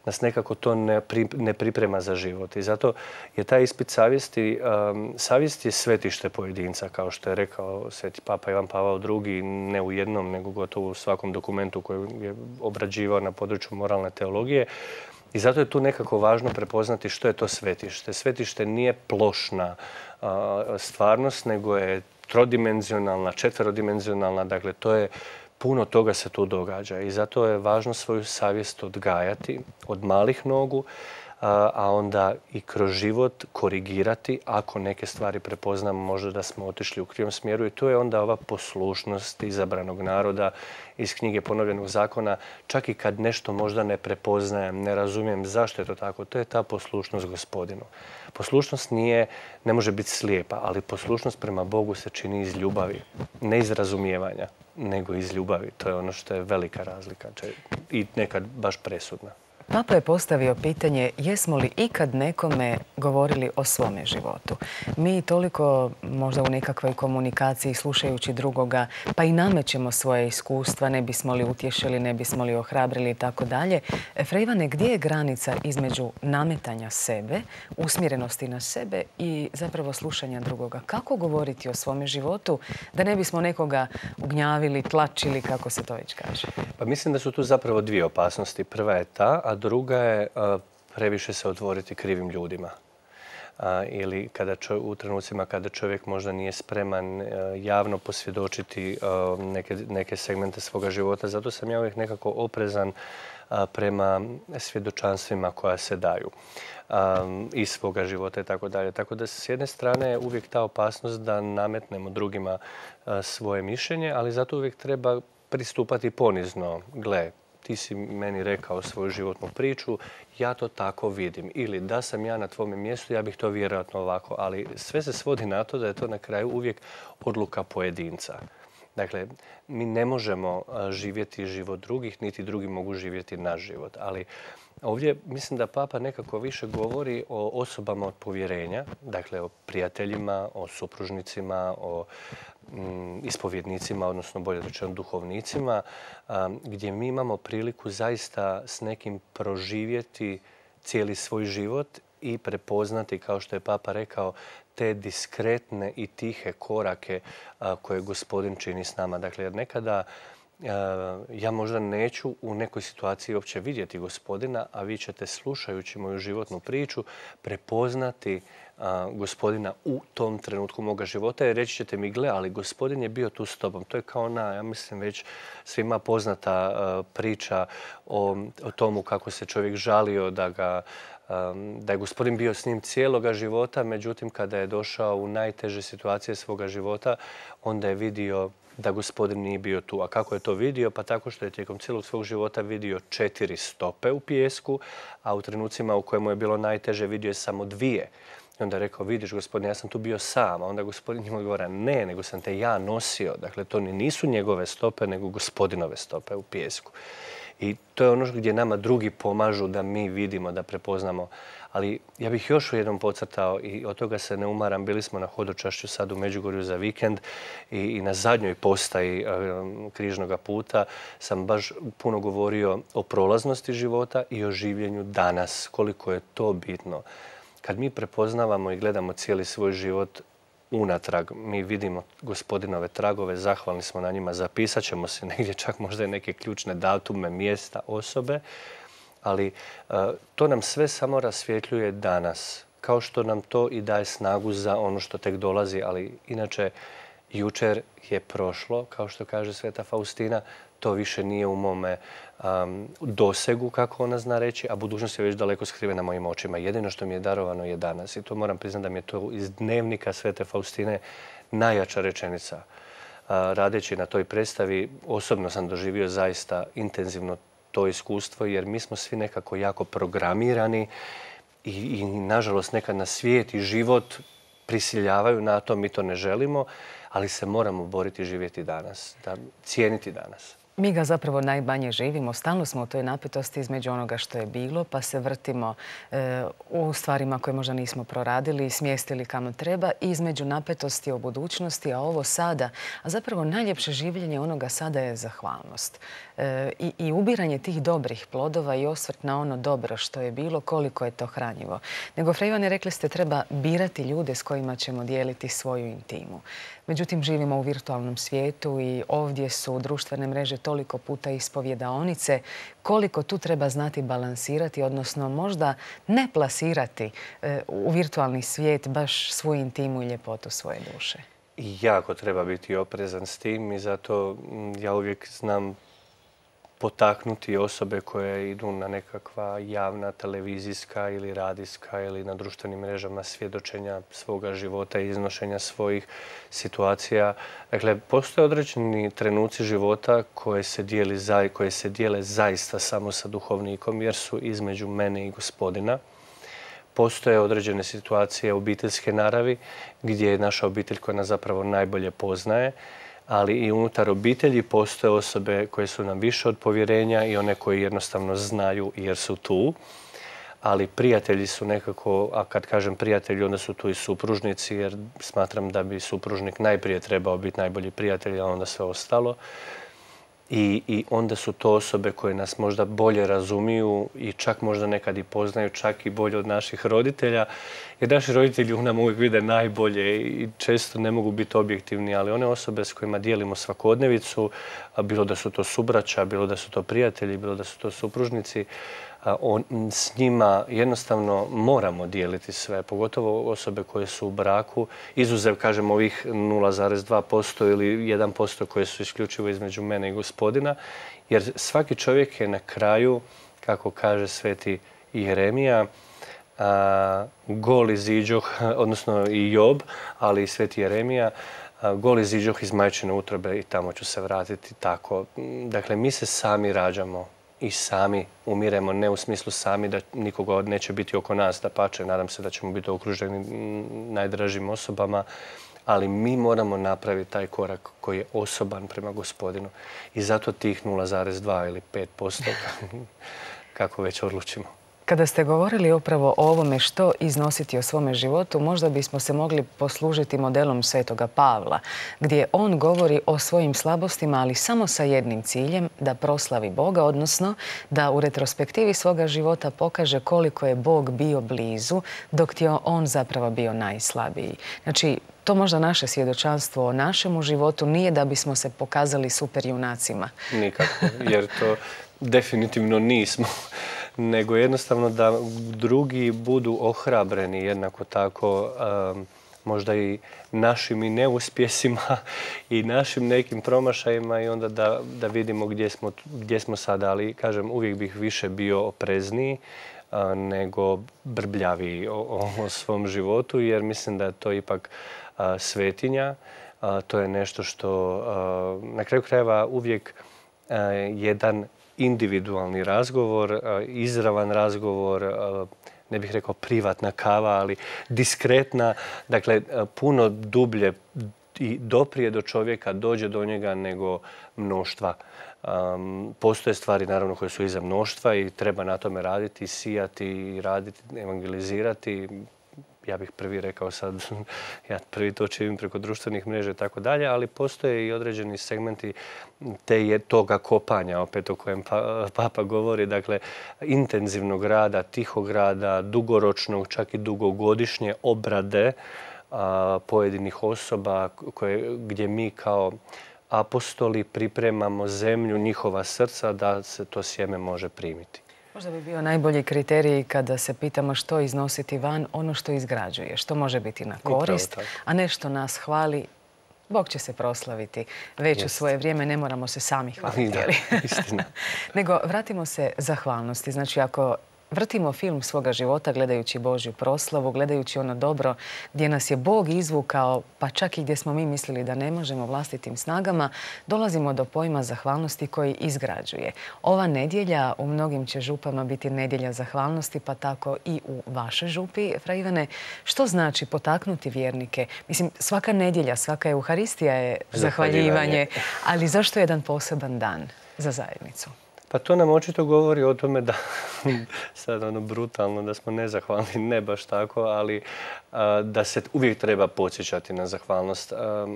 nas nekako to ne, pri, ne priprema za život. I zato je taj ispit savjesti, um, savjest je svetište pojedinca, kao što je rekao Sveti Papa Ivan Pavao drugi, ne u jednom, nego gotovo u svakom dokumentu koji je obrađivao na području moralne teologije. I zato je tu nekako važno prepoznati što je to svetište. Svetište nije plošna uh, stvarnost, nego je trodimenzionalna, četverodimenzionalna. Dakle, to je puno toga se tu događa i zato je važno svoju savjest odgajati od malih nogu, a onda i kroz život korigirati ako neke stvari prepoznamo možda da smo otišli u krivom smjeru. I to je onda ova poslušnost izabranog naroda iz knjige Ponovljenog zakona. Čak i kad nešto možda ne prepoznajem, ne razumijem zašto je to tako, to je ta poslušnost Gospodinu. Poslušnost nije, ne može biti slijepa, ali poslušnost prema Bogu se čini iz ljubavi, ne iz razumijevanja, nego iz ljubavi. To je ono što je velika razlika i nekad baš presudna. Papa je postavio pitanje jesmo li ikad nekome govorili o svome životu. Mi toliko možda u nekakvoj komunikaciji slušajući drugoga pa i namećemo svoje iskustva, ne bismo li utješili, ne bismo li ohrabrili i tako dalje. Fra Ivane, gdje je granica između nametanja sebe, usmjerenosti na sebe i zapravo slušanja drugoga? Kako govoriti o svome životu da ne bismo nekoga ugnjavili, tlačili, kako se to već kaže? Pa mislim da su tu zapravo dvije opasnosti. Prva je ta, a druga je uh, previše se otvoriti krivim ljudima. Uh, ili kada čov, u trenucima kada čovjek možda nije spreman uh, javno posvjedočiti uh, neke, neke segmente svoga života. Zato sam ja uvijek nekako oprezan uh, prema svjedočanstvima koja se daju um, iz svoga života i tako dalje. Tako da s jedne strane je uvijek ta opasnost da nametnemo drugima uh, svoje mišljenje, ali zato uvijek treba pristupati ponizno. Gle, ti si meni rekao svoju životnu priču, ja to tako vidim. Ili da sam ja na tvome mjestu, ja bih to vjerojatno ovako. Ali sve se svodi na to da je to na kraju uvijek odluka pojedinca. Dakle, mi ne možemo živjeti život drugih, niti drugi mogu živjeti naš život. Ali ovdje mislim da Papa nekako više govori o osobama od povjerenja, dakle o prijateljima, o supružnicima, o mm, ispovjednicima, odnosno bolje rečeno duhovnicima, um, gdje mi imamo priliku zaista s nekim proživjeti cijeli svoj život i prepoznati, kao što je Papa rekao, te diskretne i tihe korake a, koje Gospodin čini s nama. Dakle, jer nekada a, ja možda neću u nekoj situaciji uopće vidjeti Gospodina, a vi ćete, slušajući moju životnu priču, prepoznati a, Gospodina u tom trenutku moga života i reći ćete mi, gle, ali Gospodin je bio tu s tobom. To je kao ona, ja mislim, već svima poznata a, priča o, o tomu kako se čovjek žalio da ga da je Gospodin bio s njim cijeloga života, međutim kada je došao u najteže situacije svoga života, onda je vidio da Gospodin nije bio tu. A kako je to vidio? Pa tako što je tijekom cijelog svog života vidio četiri stope u pijesku, a u trenucima u kojemu je bilo najteže vidio je samo dvije. I onda je rekao, vidiš Gospodine, ja sam tu bio sam. A onda Gospodin njemu odgovara, ne, nego sam te ja nosio. Dakle, to nisu njegove stope, nego Gospodinove stope u pijesku. I to je ono gdje nama drugi pomažu da mi vidimo, da prepoznamo. Ali ja bih još jednom podcrtao i od toga se ne umaram. Bili smo na hodočašću sad u Međugorju za vikend i, i na zadnjoj postaji um, križnoga puta sam baš puno govorio o prolaznosti života i o življenju danas. Koliko je to bitno. Kad mi prepoznavamo i gledamo cijeli svoj život unatrag, mi vidimo Gospodinove tragove, zahvalni smo na njima, zapisat ćemo se negdje čak možda i neke ključne datume, mjesta, osobe, ali uh, to nam sve samo rasvjetljuje danas, kao što nam to i daje snagu za ono što tek dolazi, ali inače jučer je prošlo, kao što kaže Sveta Faustina, to više nije u mome um, dosegu, kako ona zna reći, a budućnost je već daleko skrivena mojim očima. Jedino što mi je darovano je danas. I to moram priznati da mi je to iz dnevnika Svete Faustine najjača rečenica. Uh, radeći na toj predstavi, osobno sam doživio zaista intenzivno to iskustvo, jer mi smo svi nekako jako programirani i, i nažalost nekad na svijet i život prisiljavaju na to, mi to ne želimo, ali se moramo boriti i živjeti danas, da cijeniti danas. Mi ga zapravo najmanje živimo. Stalno smo u toj napetosti između onoga što je bilo, pa se vrtimo e, u stvarima koje možda nismo proradili i smjestili kamo treba, i između napetosti o budućnosti, a ovo sada. A zapravo najljepše življenje onoga sada je zahvalnost. E, i, I ubiranje tih dobrih plodova i osvrt na ono dobro što je bilo, koliko je to hranjivo. Nego, Fra Ivane, rekli ste, treba birati ljude s kojima ćemo dijeliti svoju intimu. Međutim, živimo u virtualnom svijetu i ovdje su društvene mreže toliko puta ispovjedaonice, koliko tu treba znati balansirati, odnosno možda ne plasirati u virtualni svijet baš svoju intimu i ljepotu svoje duše. I jako treba biti oprezan s tim i zato ja uvijek znam potaknuti osobe koje idu na nekakva javna televizijska ili radijska ili na društvenim mrežama svjedočenja svoga života i iznošenja svojih situacija. Dakle, postoje određeni trenuci života koje se, dijeli, koje se dijele zaista samo sa duhovnikom, jer su između mene i Gospodina. Postoje određene situacije obiteljske naravi gdje je naša obitelj koja nas zapravo najbolje poznaje, ali i unutar obitelji postoje osobe koje su nam više od povjerenja i one koji jednostavno znaju jer su tu. Ali prijatelji su nekako, a kad kažem prijatelji, onda su tu i supružnici, jer smatram da bi supružnik najprije trebao biti najbolji prijatelj, a onda sve ostalo. I, I onda su to osobe koje nas možda bolje razumiju i čak možda nekad i poznaju, čak i bolje od naših roditelja. Jer naši roditelji u nam uvijek vide najbolje i često ne mogu biti objektivni, ali one osobe s kojima dijelimo svakodnevicu, bilo da su to subraća, bilo da su to prijatelji, bilo da su to supružnici, on, s njima jednostavno moramo dijeliti sve, pogotovo osobe koje su u braku, izuzev, kažem, ovih nula zarez dva posto ili jedan posto koje su isključivo između mene i Gospodina, jer svaki čovjek je na kraju, kako kaže sveti Jeremija, a, gol iziđoh, odnosno i Job, ali i sveti Jeremija, a, gol iziđoh iz majčine utrobe i tamo ću se vratiti tako. Dakle, mi se sami rađamo i sami umiremo, ne u smislu sami da nikoga neće biti oko nas, da pače, nadam se da ćemo biti okruženi najdražim osobama, ali mi moramo napraviti taj korak koji je osoban prema Gospodinu. I zato tih nula zarez dva ili pet posto, kako već odlučimo. Kada ste govorili upravo o ovome što iznositi o svome životu, možda bismo se mogli poslužiti modelom Svetoga Pavla, gdje on govori o svojim slabostima, ali samo sa jednim ciljem, da proslavi Boga, odnosno da u retrospektivi svoga života pokaže koliko je Bog bio blizu, dok je on zapravo bio najslabiji. Znači, to možda naše svjedočanstvo o našemu životu nije da bismo se pokazali super junacima. Nikako, jer to definitivno nismo. Nego jednostavno da drugi budu ohrabreni jednako tako um, možda i našim i neuspjesima i našim nekim promašajima i onda da, da vidimo gdje smo, gdje smo sada. Ali kažem, uvijek bih više bio oprezniji uh, nego brbljaviji o, o, o svom životu jer mislim da je to ipak uh, svetinja. Uh, to je nešto što uh, na kraju krajeva uvijek uh, jedan individualni razgovor, izravan razgovor, ne bih rekao privatna kava, ali diskretna, dakle puno dublje i doprije do čovjeka, dođe do njega nego mnoštva. Um, postoje stvari naravno koje su iza mnoštva i treba na tome raditi, sijati i raditi, evangelizirati. Ja bih prvi rekao sad, ja prvi to činim preko društvenih mreža i tako dalje, ali postoje i određeni segmenti te je toga kopanja, opet o kojem pa, Papa govori, dakle, intenzivnog rada, tihog rada, dugoročnog, čak i dugogodišnje obrade a, pojedinih osoba koje, gdje mi kao apostoli pripremamo zemlju, njihova srca da se to sjeme može primiti. Možda bi bio najbolji kriterij kada se pitamo što iznositi van, ono što izgrađuje, što može biti na korist, a ne što nas hvali. Bog će se proslaviti. Već u svoje vrijeme ne moramo se sami hvaliti. Da, istina. Nego vratimo se zahvalnosti. Znači, ako vrtimo film svoga života gledajući Božju proslavu, gledajući ono dobro gdje nas je Bog izvukao, pa čak i gdje smo mi mislili da ne možemo vlastitim snagama, dolazimo do pojma zahvalnosti koji izgrađuje. Ova nedjelja u mnogim će župama biti nedjelja zahvalnosti, pa tako i u vašoj župi, Fra Ivane. Što znači potaknuti vjernike? Mislim, svaka nedjelja, svaka euharistija je zahvaljivanje, ali zašto je jedan poseban dan za zajednicu? Pa to nam očito govori o tome da, sad ono brutalno, da smo nezahvalni, ne baš tako, ali a, da se uvijek treba podsjećati na zahvalnost. A,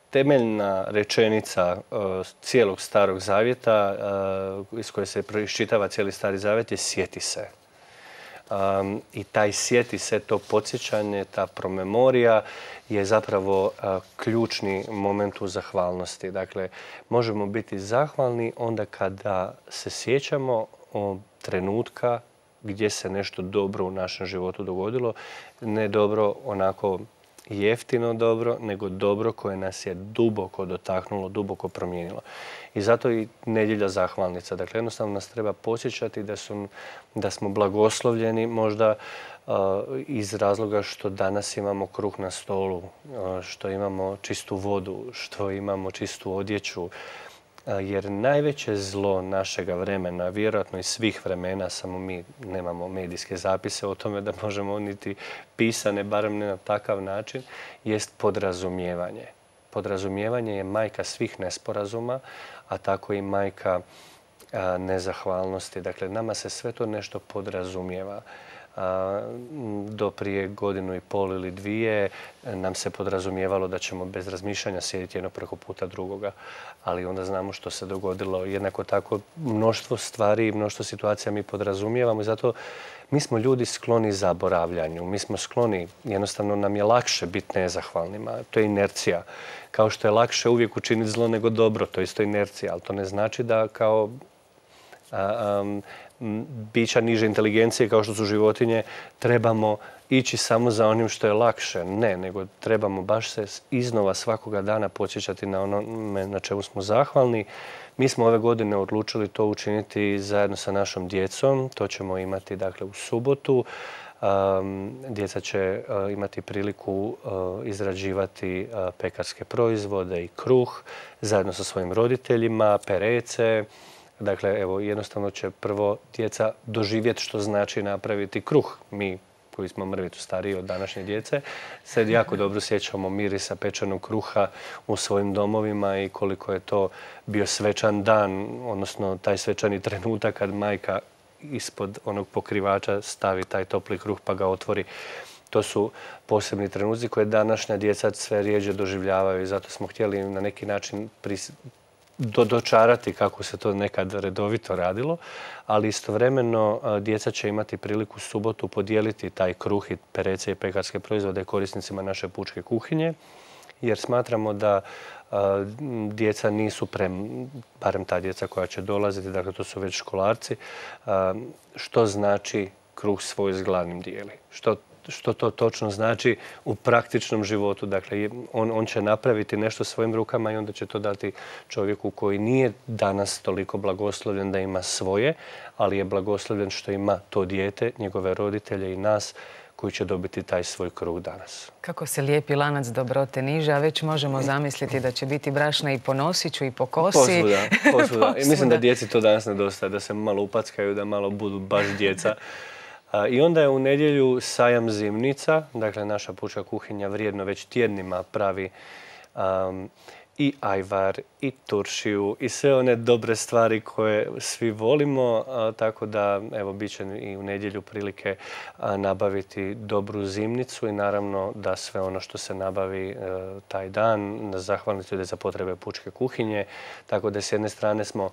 temeljna rečenica a, cijelog Starog Zavjeta, a, iz koje se iščitava cijeli Stari Zavjet, je sjeti se. Um, I taj sjeti se, to podsjećanje, ta promemorija je zapravo uh, ključni moment u zahvalnosti. Dakle, možemo biti zahvalni onda kada se sjećamo o trenutka gdje se nešto dobro u našem životu dogodilo. Ne dobro onako jeftino dobro, nego dobro koje nas je duboko dotaknulo, duboko promijenilo. I zato i nedjelja zahvalnica. Dakle, jednostavno nas treba podsjećati da, su, da smo blagoslovljeni možda uh, iz razloga što danas imamo kruh na stolu, uh, što imamo čistu vodu, što imamo čistu odjeću. Uh, jer najveće zlo našega vremena, vjerojatno i svih vremena, samo mi nemamo medijske zapise o tome da možemo niti pisane, barem ne na takav način, jest podrazumijevanje. Podrazumijevanje je majka svih nesporazuma, a tako i majka a, nezahvalnosti. Dakle, nama se sve to nešto podrazumijeva. A, do prije godinu i pol ili dvije nam se podrazumijevalo da ćemo bez razmišljanja sjediti jedno preko puta drugoga. Ali onda znamo što se dogodilo. Jednako tako mnoštvo stvari i mnoštvo situacija mi podrazumijevamo i zato mi smo ljudi skloni zaboravljanju. Mi smo skloni, jednostavno nam je lakše biti nezahvalnima. To je inercija. Kao što je lakše uvijek učiniti zlo nego dobro, to je isto inercija. Ali to ne znači da kao a, um, bića niže inteligencije, kao što su životinje, trebamo ići samo za onim što je lakše. Ne, nego trebamo baš se iznova svakoga dana podsjećati na ono na čemu smo zahvalni. Mi smo ove godine odlučili to učiniti zajedno sa našom djecom. To ćemo imati dakle u subotu. Um, djeca će uh, imati priliku uh, izrađivati uh, pekarske proizvode i kruh zajedno sa svojim roditeljima, perece, Dakle, evo, jednostavno će prvo djeca doživjeti što znači napraviti kruh. Mi koji smo mrvicu stariji od današnje djece, sad jako dobro sjećamo mirisa pečenog kruha u svojim domovima i koliko je to bio svečan dan, odnosno taj svečani trenutak kad majka ispod onog pokrivača stavi taj topli kruh pa ga otvori. To su posebni trenuci koje današnja djeca sve rijeđe doživljavaju i zato smo htjeli na neki način pris... do, dočarati kako se to nekad redovito radilo, ali istovremeno djeca će imati priliku subotu podijeliti taj kruh i perece i pekarske proizvode korisnicima naše pučke kuhinje, jer smatramo da a, djeca nisu prem, barem ta djeca koja će dolaziti, dakle to su već školarci, a, što znači kruh svoj s gladnim dijeli. Što što to točno znači u praktičnom životu. Dakle, on, on će napraviti nešto svojim rukama i onda će to dati čovjeku koji nije danas toliko blagoslovljen da ima svoje, ali je blagoslovljen što ima to dijete, njegove roditelje i nas koji će dobiti taj svoj kruh danas. Kako se lijepi lanac dobrote niže, a već možemo zamisliti da će biti brašna i po nosiću i po kosi. Posvuda, posvuda. I mislim da djeci to danas nedostaje, da se malo upackaju, da malo budu baš djeca. I onda je u nedjelju sajam zimnica, dakle naša pučka kuhinja vrijedno već tjednima pravi um, i ajvar, i turšiju, i sve one dobre stvari koje svi volimo, a, tako da evo bit će i u nedjelju prilike a, nabaviti dobru zimnicu i naravno da sve ono što se nabavi a, taj dan, zahvaliti ljudi za potrebe pučke kuhinje, tako da s jedne strane smo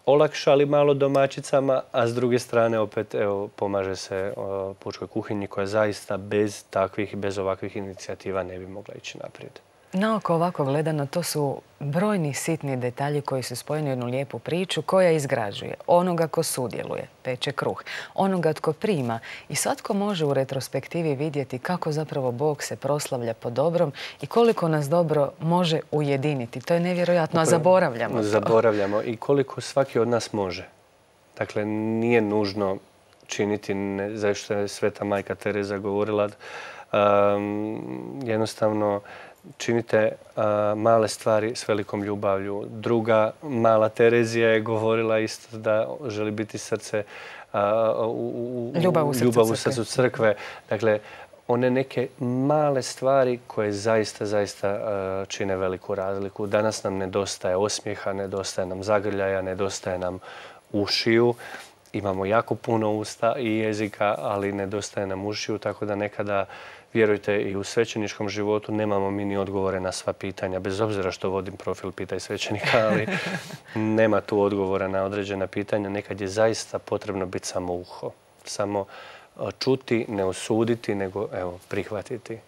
olakšali malo domaćicama, a s druge strane opet evo, pomaže se o, pučkoj kuhinji koja zaista bez takvih, bez ovakvih inicijativa ne bi mogla ići naprijed. Naoko ovako gledano, to su brojni sitni detalji koji su spojeni u jednu lijepu priču koja izgrađuje onoga ko sudjeluje, peče kruh, onoga tko prima i svatko može u retrospektivi vidjeti kako zapravo Bog se proslavlja po dobrom i koliko nas dobro može ujediniti. To je nevjerojatno, a zaboravljamo to. Zaboravljamo i koliko svaki od nas može. Dakle, nije nužno činiti, ne, zašto je Sveta majka Tereza govorila, um, jednostavno činite uh, male stvari s velikom ljubavlju. Druga mala Terezija je govorila isto da želi biti srce uh, u, u, ljubav u srcu, ljubav u srcu crkve. Dakle, one neke male stvari koje zaista, zaista uh, čine veliku razliku. Danas nam nedostaje osmijeha, nedostaje nam zagrljaja, nedostaje nam ušiju. Imamo jako puno usta i jezika, ali nedostaje nam ušiju, tako da nekada, vjerujte, i u svećeničkom životu nemamo mi ni odgovore na sva pitanja, bez obzira što vodim profil Pitaj svećenika, ali nema tu odgovora na određena pitanja. Nekad je zaista potrebno biti samo uho, samo čuti, ne osuditi, nego evo, prihvatiti.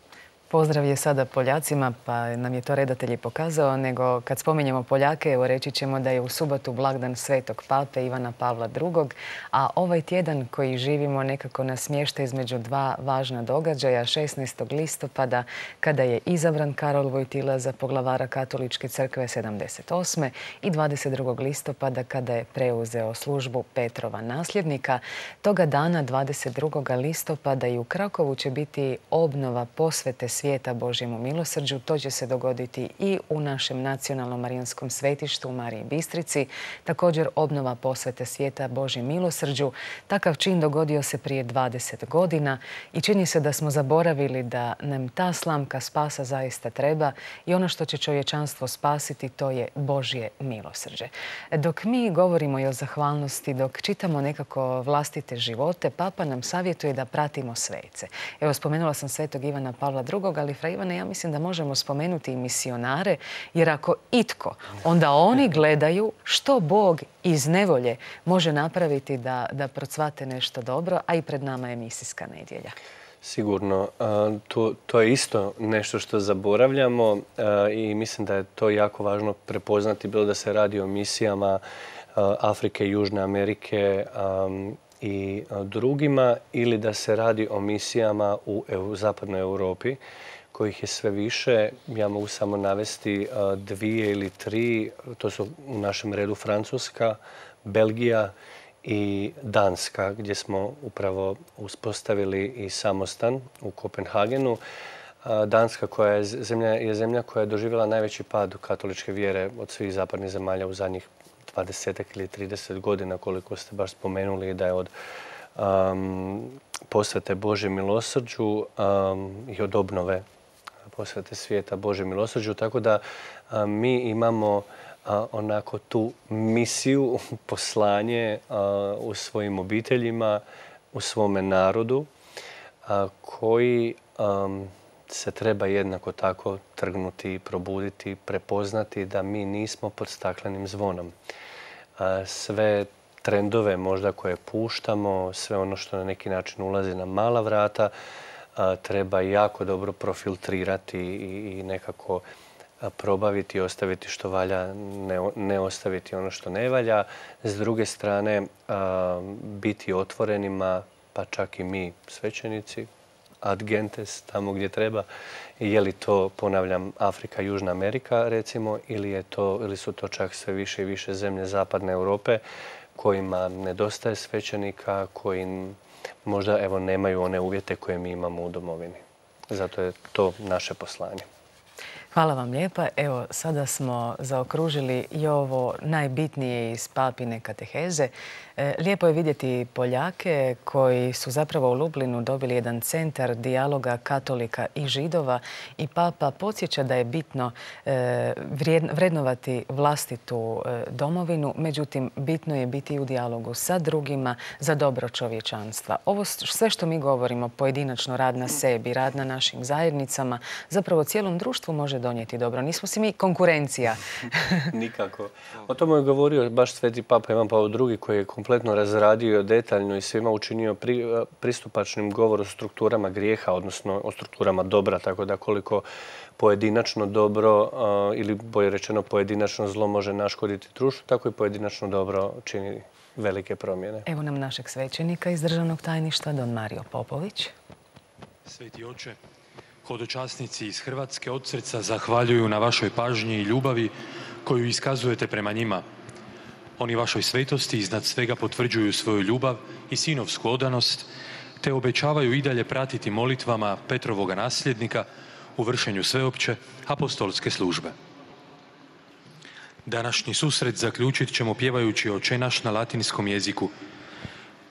Pozdrav je sada Poljacima, pa nam je to redatelj i pokazao, nego kad spominjemo Poljake, evo reći ćemo da je u subotu blagdan Svetog Pape Ivana Pavla drugog, a ovaj tjedan koji živimo nekako nas smješta između dva važna događaja, šesnaestog listopada kada je izabran Karol Vojtila za poglavara Katoličke crkve sedamdeset osme i dvadeset drugog listopada kada je preuzeo službu Petrova nasljednika. Toga dana, dvadeset drugog listopada, i u Krakovu će biti obnova posvete svijeta Božjemu milosrđu. To će se dogoditi i u našem nacionalnom marijanskom svetištu u Mariji Bistrici. Također obnova posvete svijeta Božjem milosrđu. Takav čin dogodio se prije dvadeset godina i čini se da smo zaboravili da nam ta slamka spasa zaista treba i ono što će čovječanstvo spasiti to je Božje milosrđe. Dok mi govorimo i o zahvalnosti, dok čitamo nekako vlastite živote, Papa nam savjetuje da pratimo svece. Evo, spomenula sam Svetog Ivana Pavla drugog, ali fra Ivane, ja mislim da možemo spomenuti i misionare, jer ako itko, onda oni gledaju što Bog iz nevolje može napraviti da, da procvate nešto dobro, a i pred nama je misijska nedjelja. Sigurno. To, to je isto nešto što zaboravljamo i mislim da je to jako važno prepoznati, bilo da se radi o misijama Afrike, Južne Amerike i drugima, ili da se radi o misijama u, u zapadnoj Europi, kojih je sve više. Ja mogu samo navesti dvije ili tri. To su u našem redu Francuska, Belgija i Danska, gdje smo upravo uspostavili i samostan u Kopenhagenu. Danska koja je zemlja, je zemlja koja je doživjela najveći pad katoličke vjere od svih zapadnih zemalja u zadnjih dvadesetak ili trideset godina, koliko ste baš spomenuli, da je od um, posvete Božjem milosrđu um, i od obnove posvete svijeta Božjem milosrđu. Tako da um, mi imamo uh, onako tu misiju, poslanje uh, u svojim obiteljima, u svome narodu, uh, koji um, se treba jednako tako trgnuti, probuditi, prepoznati da mi nismo pod staklenim zvonom. Sve trendove možda koje puštamo, sve ono što na neki način ulazi na mala vrata, treba jako dobro profiltrirati i nekako probaviti i ostaviti što valja, ne ostaviti ono što ne valja. S druge strane, biti otvorenima, pa čak i mi svećenici, ad gentes, tamo gdje treba. Je li to, ponavljam, Afrika, Južna Amerika, recimo, ili, je to, ili su to čak sve više i više zemlje zapadne Europe kojima nedostaje svećenika, koji možda evo, nemaju one uvjete koje mi imamo u domovini. Zato je to naše poslanje. Hvala vam lijepa. Evo, sada smo zaokružili i ovo najbitnije iz papine kateheze. Lijepo je vidjeti Poljake koji su zapravo u Lublinu dobili jedan centar dijaloga katolika i židova i papa podsjeća da je bitno vrednovati vlastitu domovinu, međutim bitno je biti u dijalogu sa drugima za dobro čovječanstva. Ovo sve što mi govorimo, pojedinačno rad na sebi, rad na našim zajednicama, zapravo cijelom društvu može donijeti dobro. Nismo si mi konkurencija. Nikako. O tome je govorio baš Sveti Papa Ivan Pavao drugi koji je kompletno razradio detaljno i svima učinio pri, pristupačnim govor o strukturama grijeha, odnosno o strukturama dobra, tako da koliko pojedinačno dobro uh, ili bolje rečeno pojedinačno zlo može naškoditi društvu, tako i pojedinačno dobro čini velike promjene. Evo nam našeg svećenika iz Državnog tajništva, don Mario Popović. Sveti oče, hodočasnici iz Hrvatske od srca zahvaljuju na vašoj pažnji i ljubavi koju iskazujete prema njima. Oni vašoj svetosti iznad svega potvrđuju svoju ljubav i sinovsku odanost, te obećavaju i dalje pratiti molitvama Petrovoga nasljednika u vršenju sveopće apostolske službe. Današnji susret zaključit ćemo pjevajući Oče naš na latinskom jeziku.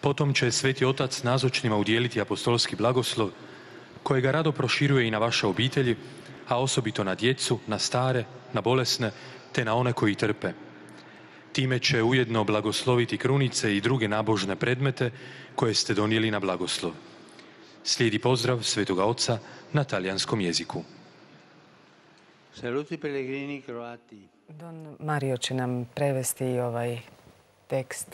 Potom će Sveti Otac nazočnima udijeliti apostolski blagoslov, kojega rado proširuje i na vaše obitelji, a osobito na djecu, na stare, na bolesne, te na one koji trpe. Time će ujedno blagosloviti krunice i druge nabožne predmete koje ste donijeli na blagoslov. Slijedi pozdrav Svetoga Oca na talijanskom jeziku. Saluti pellegrini croati. Don Mario će nam prevesti ovaj tekst.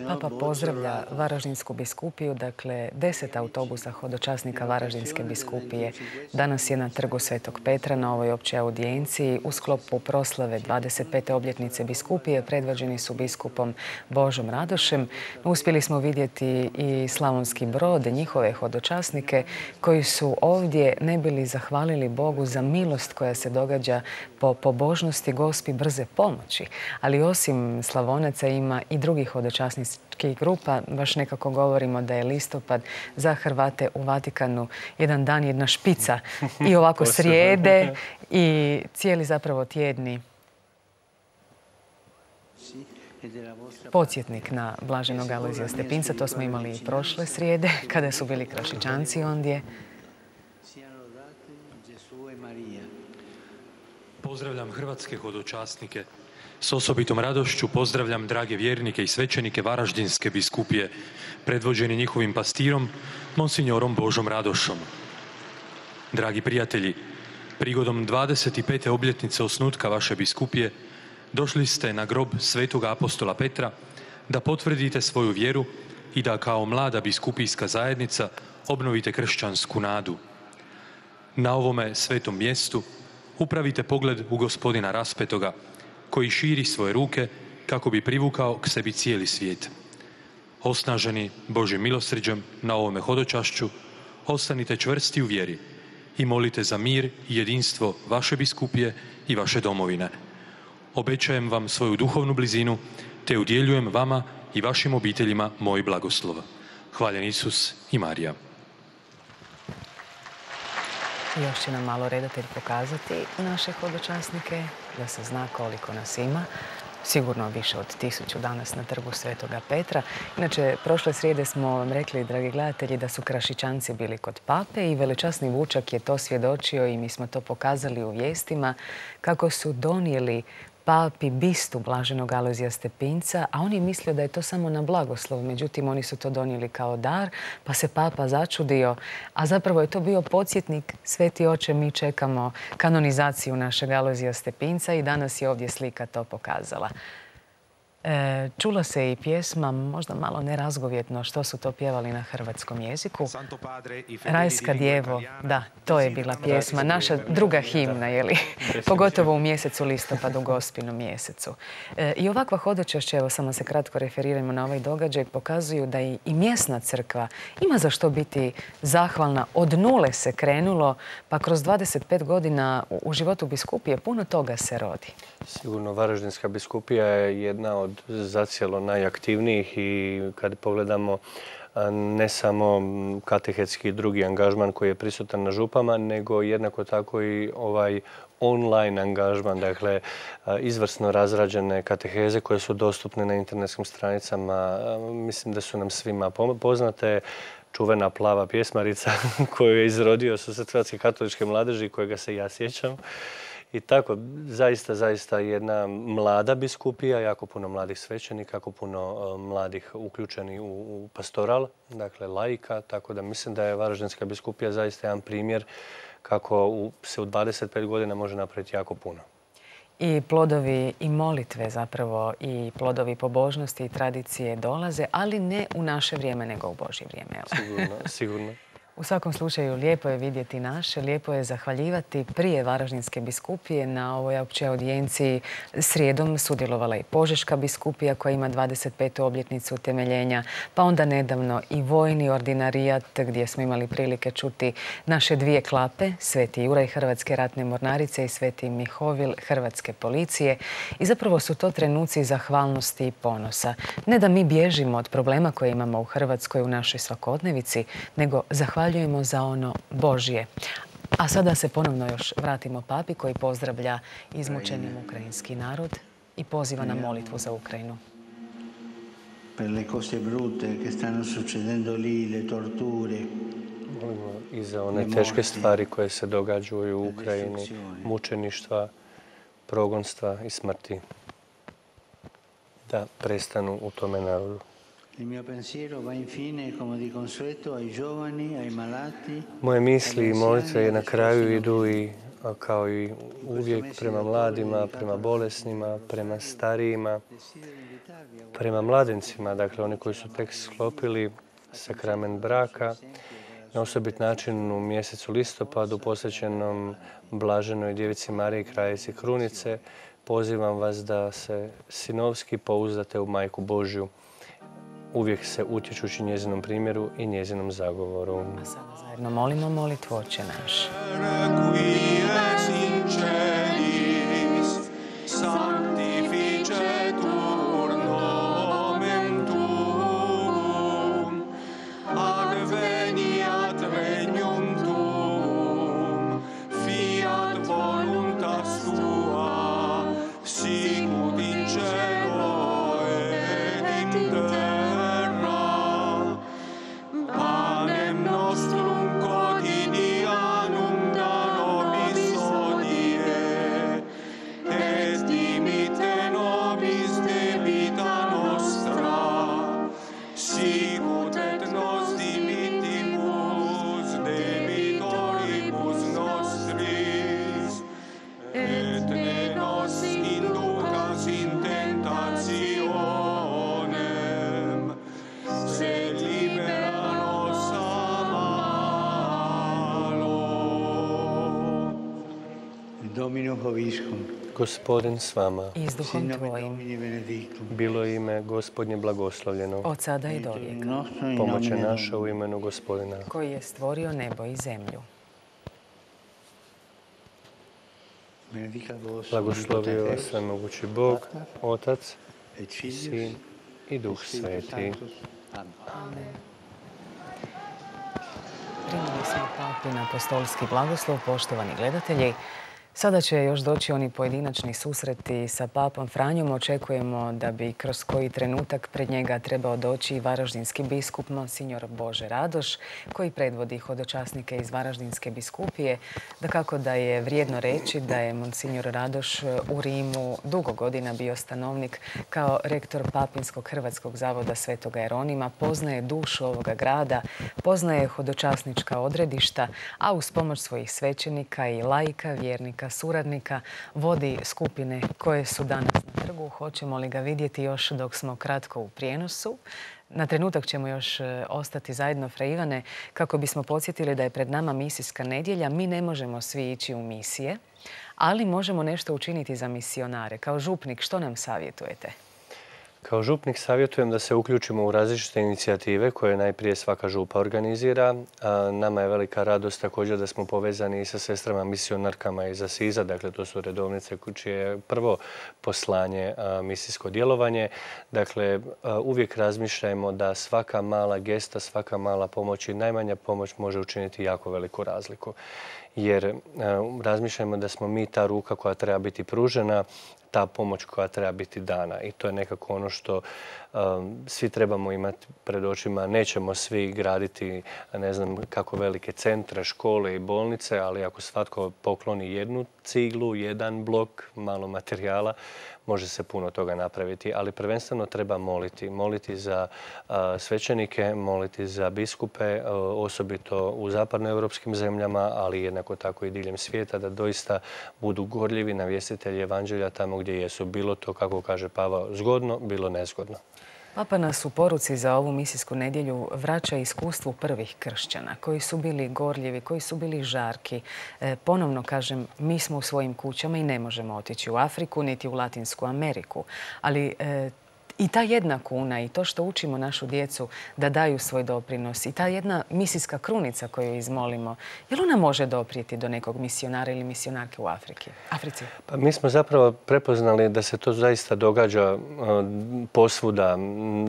Papa pozdravlja Varaždinsku biskupiju, dakle deset autobusa hodočasnika Varaždinske biskupije. Danas je na trgu Svetog Petra na ovoj općoj audijenciji u sklopu proslave dvadeset pete obljetnice biskupije predvođeni su biskupom Božom Radošem. Uspjeli smo vidjeti i Slavonski Brod, njihove hodočasnike koji su ovdje ne bili zahvalili Bogu za milost koja se događa po pobožnosti Gospi brze pomoći. Ali osim Slavonaca ima i drugih hodočasničkih grupa. Baš nekako govorimo da je listopad za Hrvate u Vatikanu jedan dan, jedna špica. I ovako srijede i cijeli zapravo tjedni podsjetnik na blaženog Alojzija Stepinca. To smo imali i prošle srijede kada su bili Krašičanci ondje. Pozdravljam hrvatske hodočasnike. S osobitom radošću pozdravljam drage vjernike i svećenike Varaždinske biskupije, predvođeni njihovim pastirom, monsignorom Božom Radošom. Dragi prijatelji, prigodom dvadeset pete obljetnice osnutka vaše biskupije, došli ste na grob svetoga apostola Petra da potvrdite svoju vjeru i da kao mlada biskupijska zajednica obnovite kršćansku nadu. Na ovome svetom mjestu upravite pogled u gospodina raspetoga, koji širi svoje ruke kako bi privukao k sebi cijeli svijet. Osnaženi Božjim milosrđem na ovome hodočašću, ostanite čvrsti u vjeri i molite za mir i jedinstvo vaše biskupije i vaše domovine. Obećajem vam svoju duhovnu blizinu, te udjeljujem vama i vašim obiteljima moj blagoslov. Hvaljen Isus i Marija. Još će nam malo redatelj pokazati naše hodočasnike. da se zna koliko nas ima. Sigurno više od tisuću danas na trgu Svetoga Petra. Inače, prošle srijede smo vam rekli, dragi gledatelji, da su Krašičanci bili kod pape i velečasni Vučak je to svjedočio i mi smo to pokazali u vijestima kako su donijeli papi bistu blaženog Alojzija Stepinca, a on je mislio da je to samo na blagoslov. Međutim, oni su to donijeli kao dar, pa se papa začudio, a zapravo je to bio podsjetnik: Sveti oče, mi čekamo kanonizaciju našeg Alojzija Stepinca i danas je ovdje slika to pokazala. E, čula se i pjesma, možda malo nerazgovjetno, što su to pjevali na hrvatskom jeziku. Rajska djevo, da, to je bila pjesma, naša druga himna, je li? Pogotovo u mjesecu listopadu, Gospinom mjesecu. E, I ovakva hodočašća, evo samo se kratko referiramo na ovaj događaj, pokazuju da i, i mjesna crkva ima za što biti zahvalna. Od nule se krenulo, pa kroz dvadeset pet godina u, u životu biskupije puno toga se rodi. Sigurno, Varaždinska biskupija je jedna od zacijelo najaktivnijih i kad pogledamo ne samo katehetski drugi angažman koji je prisutan na župama, nego jednako tako i ovaj online angažman, dakle izvrsno razrađene kateheze koje su dostupne na internetskim stranicama. Mislim da su nam svima poznate. Čuvena plava pjesmarica koju je izrodio Susret Hrvatske katoličke mladeži, kojega se ja sjećam. I tako, zaista, zaista jedna mlada biskupija, jako puno mladih svećenika, jako puno uh, mladih uključeni u, u pastoral, dakle laika, tako da mislim da je Varaždinska biskupija zaista jedan primjer kako u, se u dvadeset pet godina može napraviti jako puno. I plodovi i molitve zapravo i plodovi pobožnosti i tradicije dolaze, ali ne u naše vrijeme, nego u Božje vrijeme. Sigurno, sigurno. U svakom slučaju, lijepo je vidjeti naše, lijepo je zahvaljivati. Prije Varaždinske biskupije na ovoj općoj audijenciji srijedom sudjelovala i Požeška biskupija koja ima dvadeset petu obljetnicu utemeljenja, pa onda nedavno i vojni ordinarijat gdje smo imali prilike čuti naše dvije klape, Sveti Juraj Hrvatske ratne mornarice i Sveti Mihovil Hrvatske policije. I zapravo su to trenuci zahvalnosti i ponosa. Ne da mi bježimo od problema koje imamo u Hrvatskoj u našoj svakodnevici, nego zahvaljujemo za ono Božje. A sada se ponovno još vratimo papi koji pozdravlja izmučeni ukrajinski narod i poziva na molitvu za Ukrajinu. Per le cose brutte che stanno succedendo lì, le torture. Molimo i za one teške stvari koje se događaju u Ukrajini, mučeništva, progonstva i smrti, da prestanu u tome narodu. Moje misli i molitve na kraju idu i kao i uvijek prema mladima, prema bolesnima, prema starijima, prema mladencima, dakle oni koji su tek sklopili sakrament braka, na osobit način u mjesecu listopadu posvećenom Blaženoj Djevici Mariji Kraljici Krunice. Pozivam vas da se sinovski pouzdate u Majku Božju, uvijek se utječući njezinom primjeru i njezinom zagovoru. A sada zajedno molimo molitvu Oče naš. Gospodin s vama. I s duhom tvojim. Bilo ime Gospodnje blagoslovljeno. Od sada i dovijeka. Pomoć je naša u imenu Gospodina. Koji je stvorio nebo i zemlju. Blagoslovio vas svemogući Bog, Otac, Sin i Duh Sveti. Amen. Primili smo papin apostolski blagoslov, poštovani gledatelji. Sada će još doći oni pojedinačni susreti sa papom Franjom. Očekujemo da bi kroz koji trenutak pred njega trebao doći i varaždinski biskup Monsignor Bože Radoš, koji predvodi hodočasnike iz Varaždinske biskupije. Dakako da je vrijedno reći da je Monsignor Radoš u Rimu dugo godina bio stanovnik kao rektor Papinskog Hrvatskog zavoda Svetoga Jeronima, poznaje dušu ovoga grada, poznaje hodočasnička odredišta, a uz pomoć svojih svećenika i laika, vjernika, suradnika, vodi skupine koje su danas na trgu. Hoćemo li ga vidjeti još dok smo kratko u prijenosu? Na trenutak ćemo još ostati zajedno, Fra Ivane, kako bismo podsjetili da je pred nama misijska nedjelja. Mi ne možemo svi ići u misije, ali možemo nešto učiniti za misionare. Kao župnik, što nam savjetujete? Kao župnik savjetujem da se uključimo u različite inicijative koje najprije svaka župa organizira. Nama je velika radost također da smo povezani i sa sestrama misionarkama iz Asiza, dakle to su redovnice čije je prvo poslanje misijsko djelovanje. Dakle, uvijek razmišljajmo da svaka mala gesta, svaka mala pomoć i najmanja pomoć može učiniti jako veliku razliku. Jer razmišljajmo da smo mi ta ruka koja treba biti pružena, ta pomoć koja treba biti dana. I to je nekako ono što um, svi trebamo imati pred očima. Nećemo svi graditi, ne znam kako velike centre, škole i bolnice, ali ako svatko pokloni jednu ciglu, jedan blok, malo materijala, može se puno toga napraviti. Ali prvenstveno treba moliti. Moliti za uh, svećenike, moliti za biskupe, uh, osobito u zapadnoevropskim zemljama, ali jednako tako i diljem svijeta, da doista budu gorljivi navjestitelji evanđelja tamo gdje jesu. Bilo to, kako kaže Pavao, zgodno, bilo nezgodno. Papa nas u poruci za ovu misijsku nedjelju vraća iskustvu prvih kršćana, koji su bili gorljivi, koji su bili žarki. E, ponovno kažem, mi smo u svojim kućama i ne možemo otići u Afriku, niti u Latinsku Ameriku. Ali e, i ta jedna kuna i to što učimo našu djecu da daju svoj doprinos i ta jedna misijska krunica koju izmolimo, jel ona može doprijeti do nekog misionara ili misionarke u Afriki? Africi? Pa mi smo zapravo prepoznali da se to zaista događa uh, posvuda.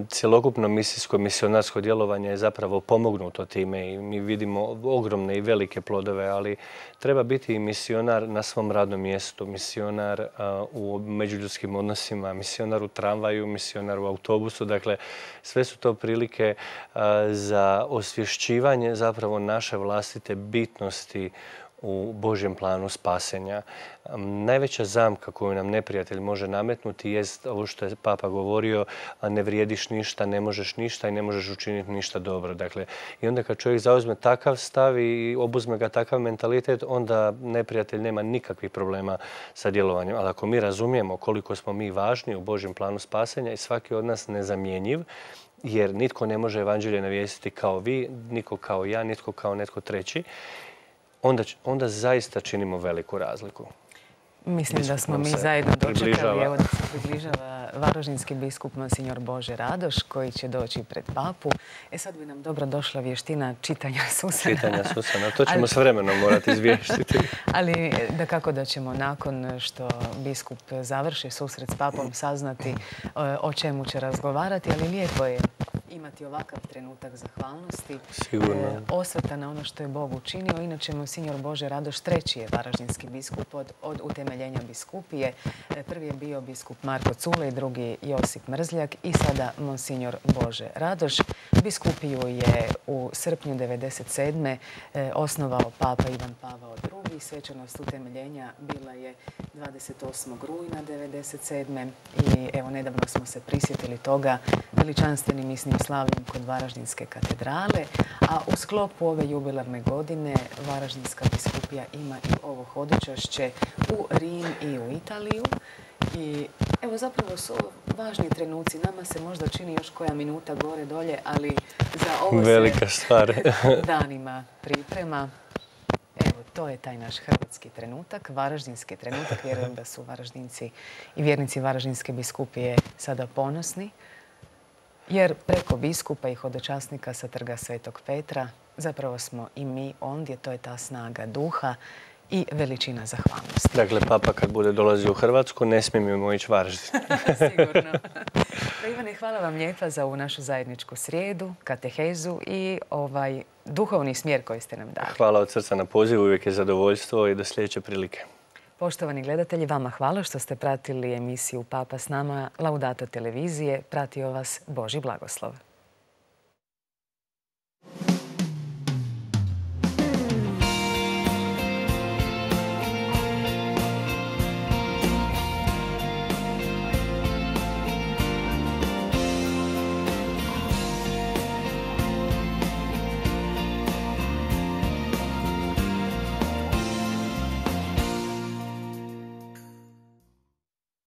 Cjelokupno misijsko, misionarsko djelovanje je zapravo pomognuto time i mi vidimo ogromne i velike plodove, ali treba biti i misionar na svom radnom mjestu, misionar uh, u međuljudskim odnosima, misionar u tramvaju, misionar u autobusu. Dakle, sve su to prilike uh, za osvješćivanje zapravo naše vlastite bitnosti u Božjem planu spasenja. Um, najveća zamka koju nam neprijatelj može nametnuti jest ovo što je Papa govorio, ne vrijediš ništa, ne možeš ništa i ne možeš učiniti ništa dobro. Dakle, i onda kad čovjek zauzme takav stav i obuzme ga takav mentalitet, onda neprijatelj nema nikakvih problema sa djelovanjem. Ali ako mi razumijemo koliko smo mi važni u Božjem planu spasenja i svaki od nas nezamjenjiv, jer nitko ne može evanđelje navijestiti kao vi, nitko kao ja, nitko kao netko treći, Onda, onda zaista činimo veliku razliku. Mislim da smo mi zajedno dočekali, evo da se približava varaždinski biskup Monsignor Bože Radoš, koji će doći pred papu. E sad bi nam dobro došla vještina čitanja Susana. Čitanja Susana, to ćemo ali, s vremenom morati izvještiti. Ali da kako da ćemo nakon što biskup završi susret s papom saznati o čemu će razgovarati, ali lijepo je imati ovakav trenutak zahvalnosti, Sigurno. E, osvrta na ono što je Bog učinio. Inače, Monsignor Bože Radoš treći je varaždinski biskup od, od utemeljenja biskupije. E, prvi je bio biskup Marko Culej, drugi Josip Mrzljak i sada Monsignor Bože Radoš. Biskupiju je u srpnju devedeset sedme. E, osnovao Papa Ivan Pavao drugi. Svečanost utemeljenja bila je dvadeset osmog rujna devedeset sedme. I evo, nedavno smo se prisjetili toga veličanstvenim misnim slavljem kod Varaždinske katedrale, a u sklopu ove jubilarne godine Varaždinska biskupija ima i ovo hodočašće u Rim i u Italiju. I evo, zapravo su važni trenuci. Nama se možda čini još koja minuta gore dolje, ali za ovo velika se stvar. danima priprema. Evo, to je taj naš hrvatski trenutak, varaždinski trenutak. Vjerujem da su Varaždinci i vjernici Varaždinske biskupije sada ponosni, jer preko biskupa i hodočasnika sa trga Svetog Petra zapravo smo i mi ondje, to je ta snaga duha i veličina zahvalnosti. Dakle, Papa kad bude dolazio u Hrvatsku, ne smijemo ići Varaždin. Sigurno. Ivane, hvala vam lijepa za ovu našu zajedničku srijedu, katehezu i ovaj duhovni smjer koji ste nam dali. Hvala od srca na pozivu, uvijek je zadovoljstvo i do sljedeće prilike. Poštovani gledatelji, vama hvala što ste pratili emisiju Papa s nama, Laudato televizije. Pratio vas Božji blagoslov.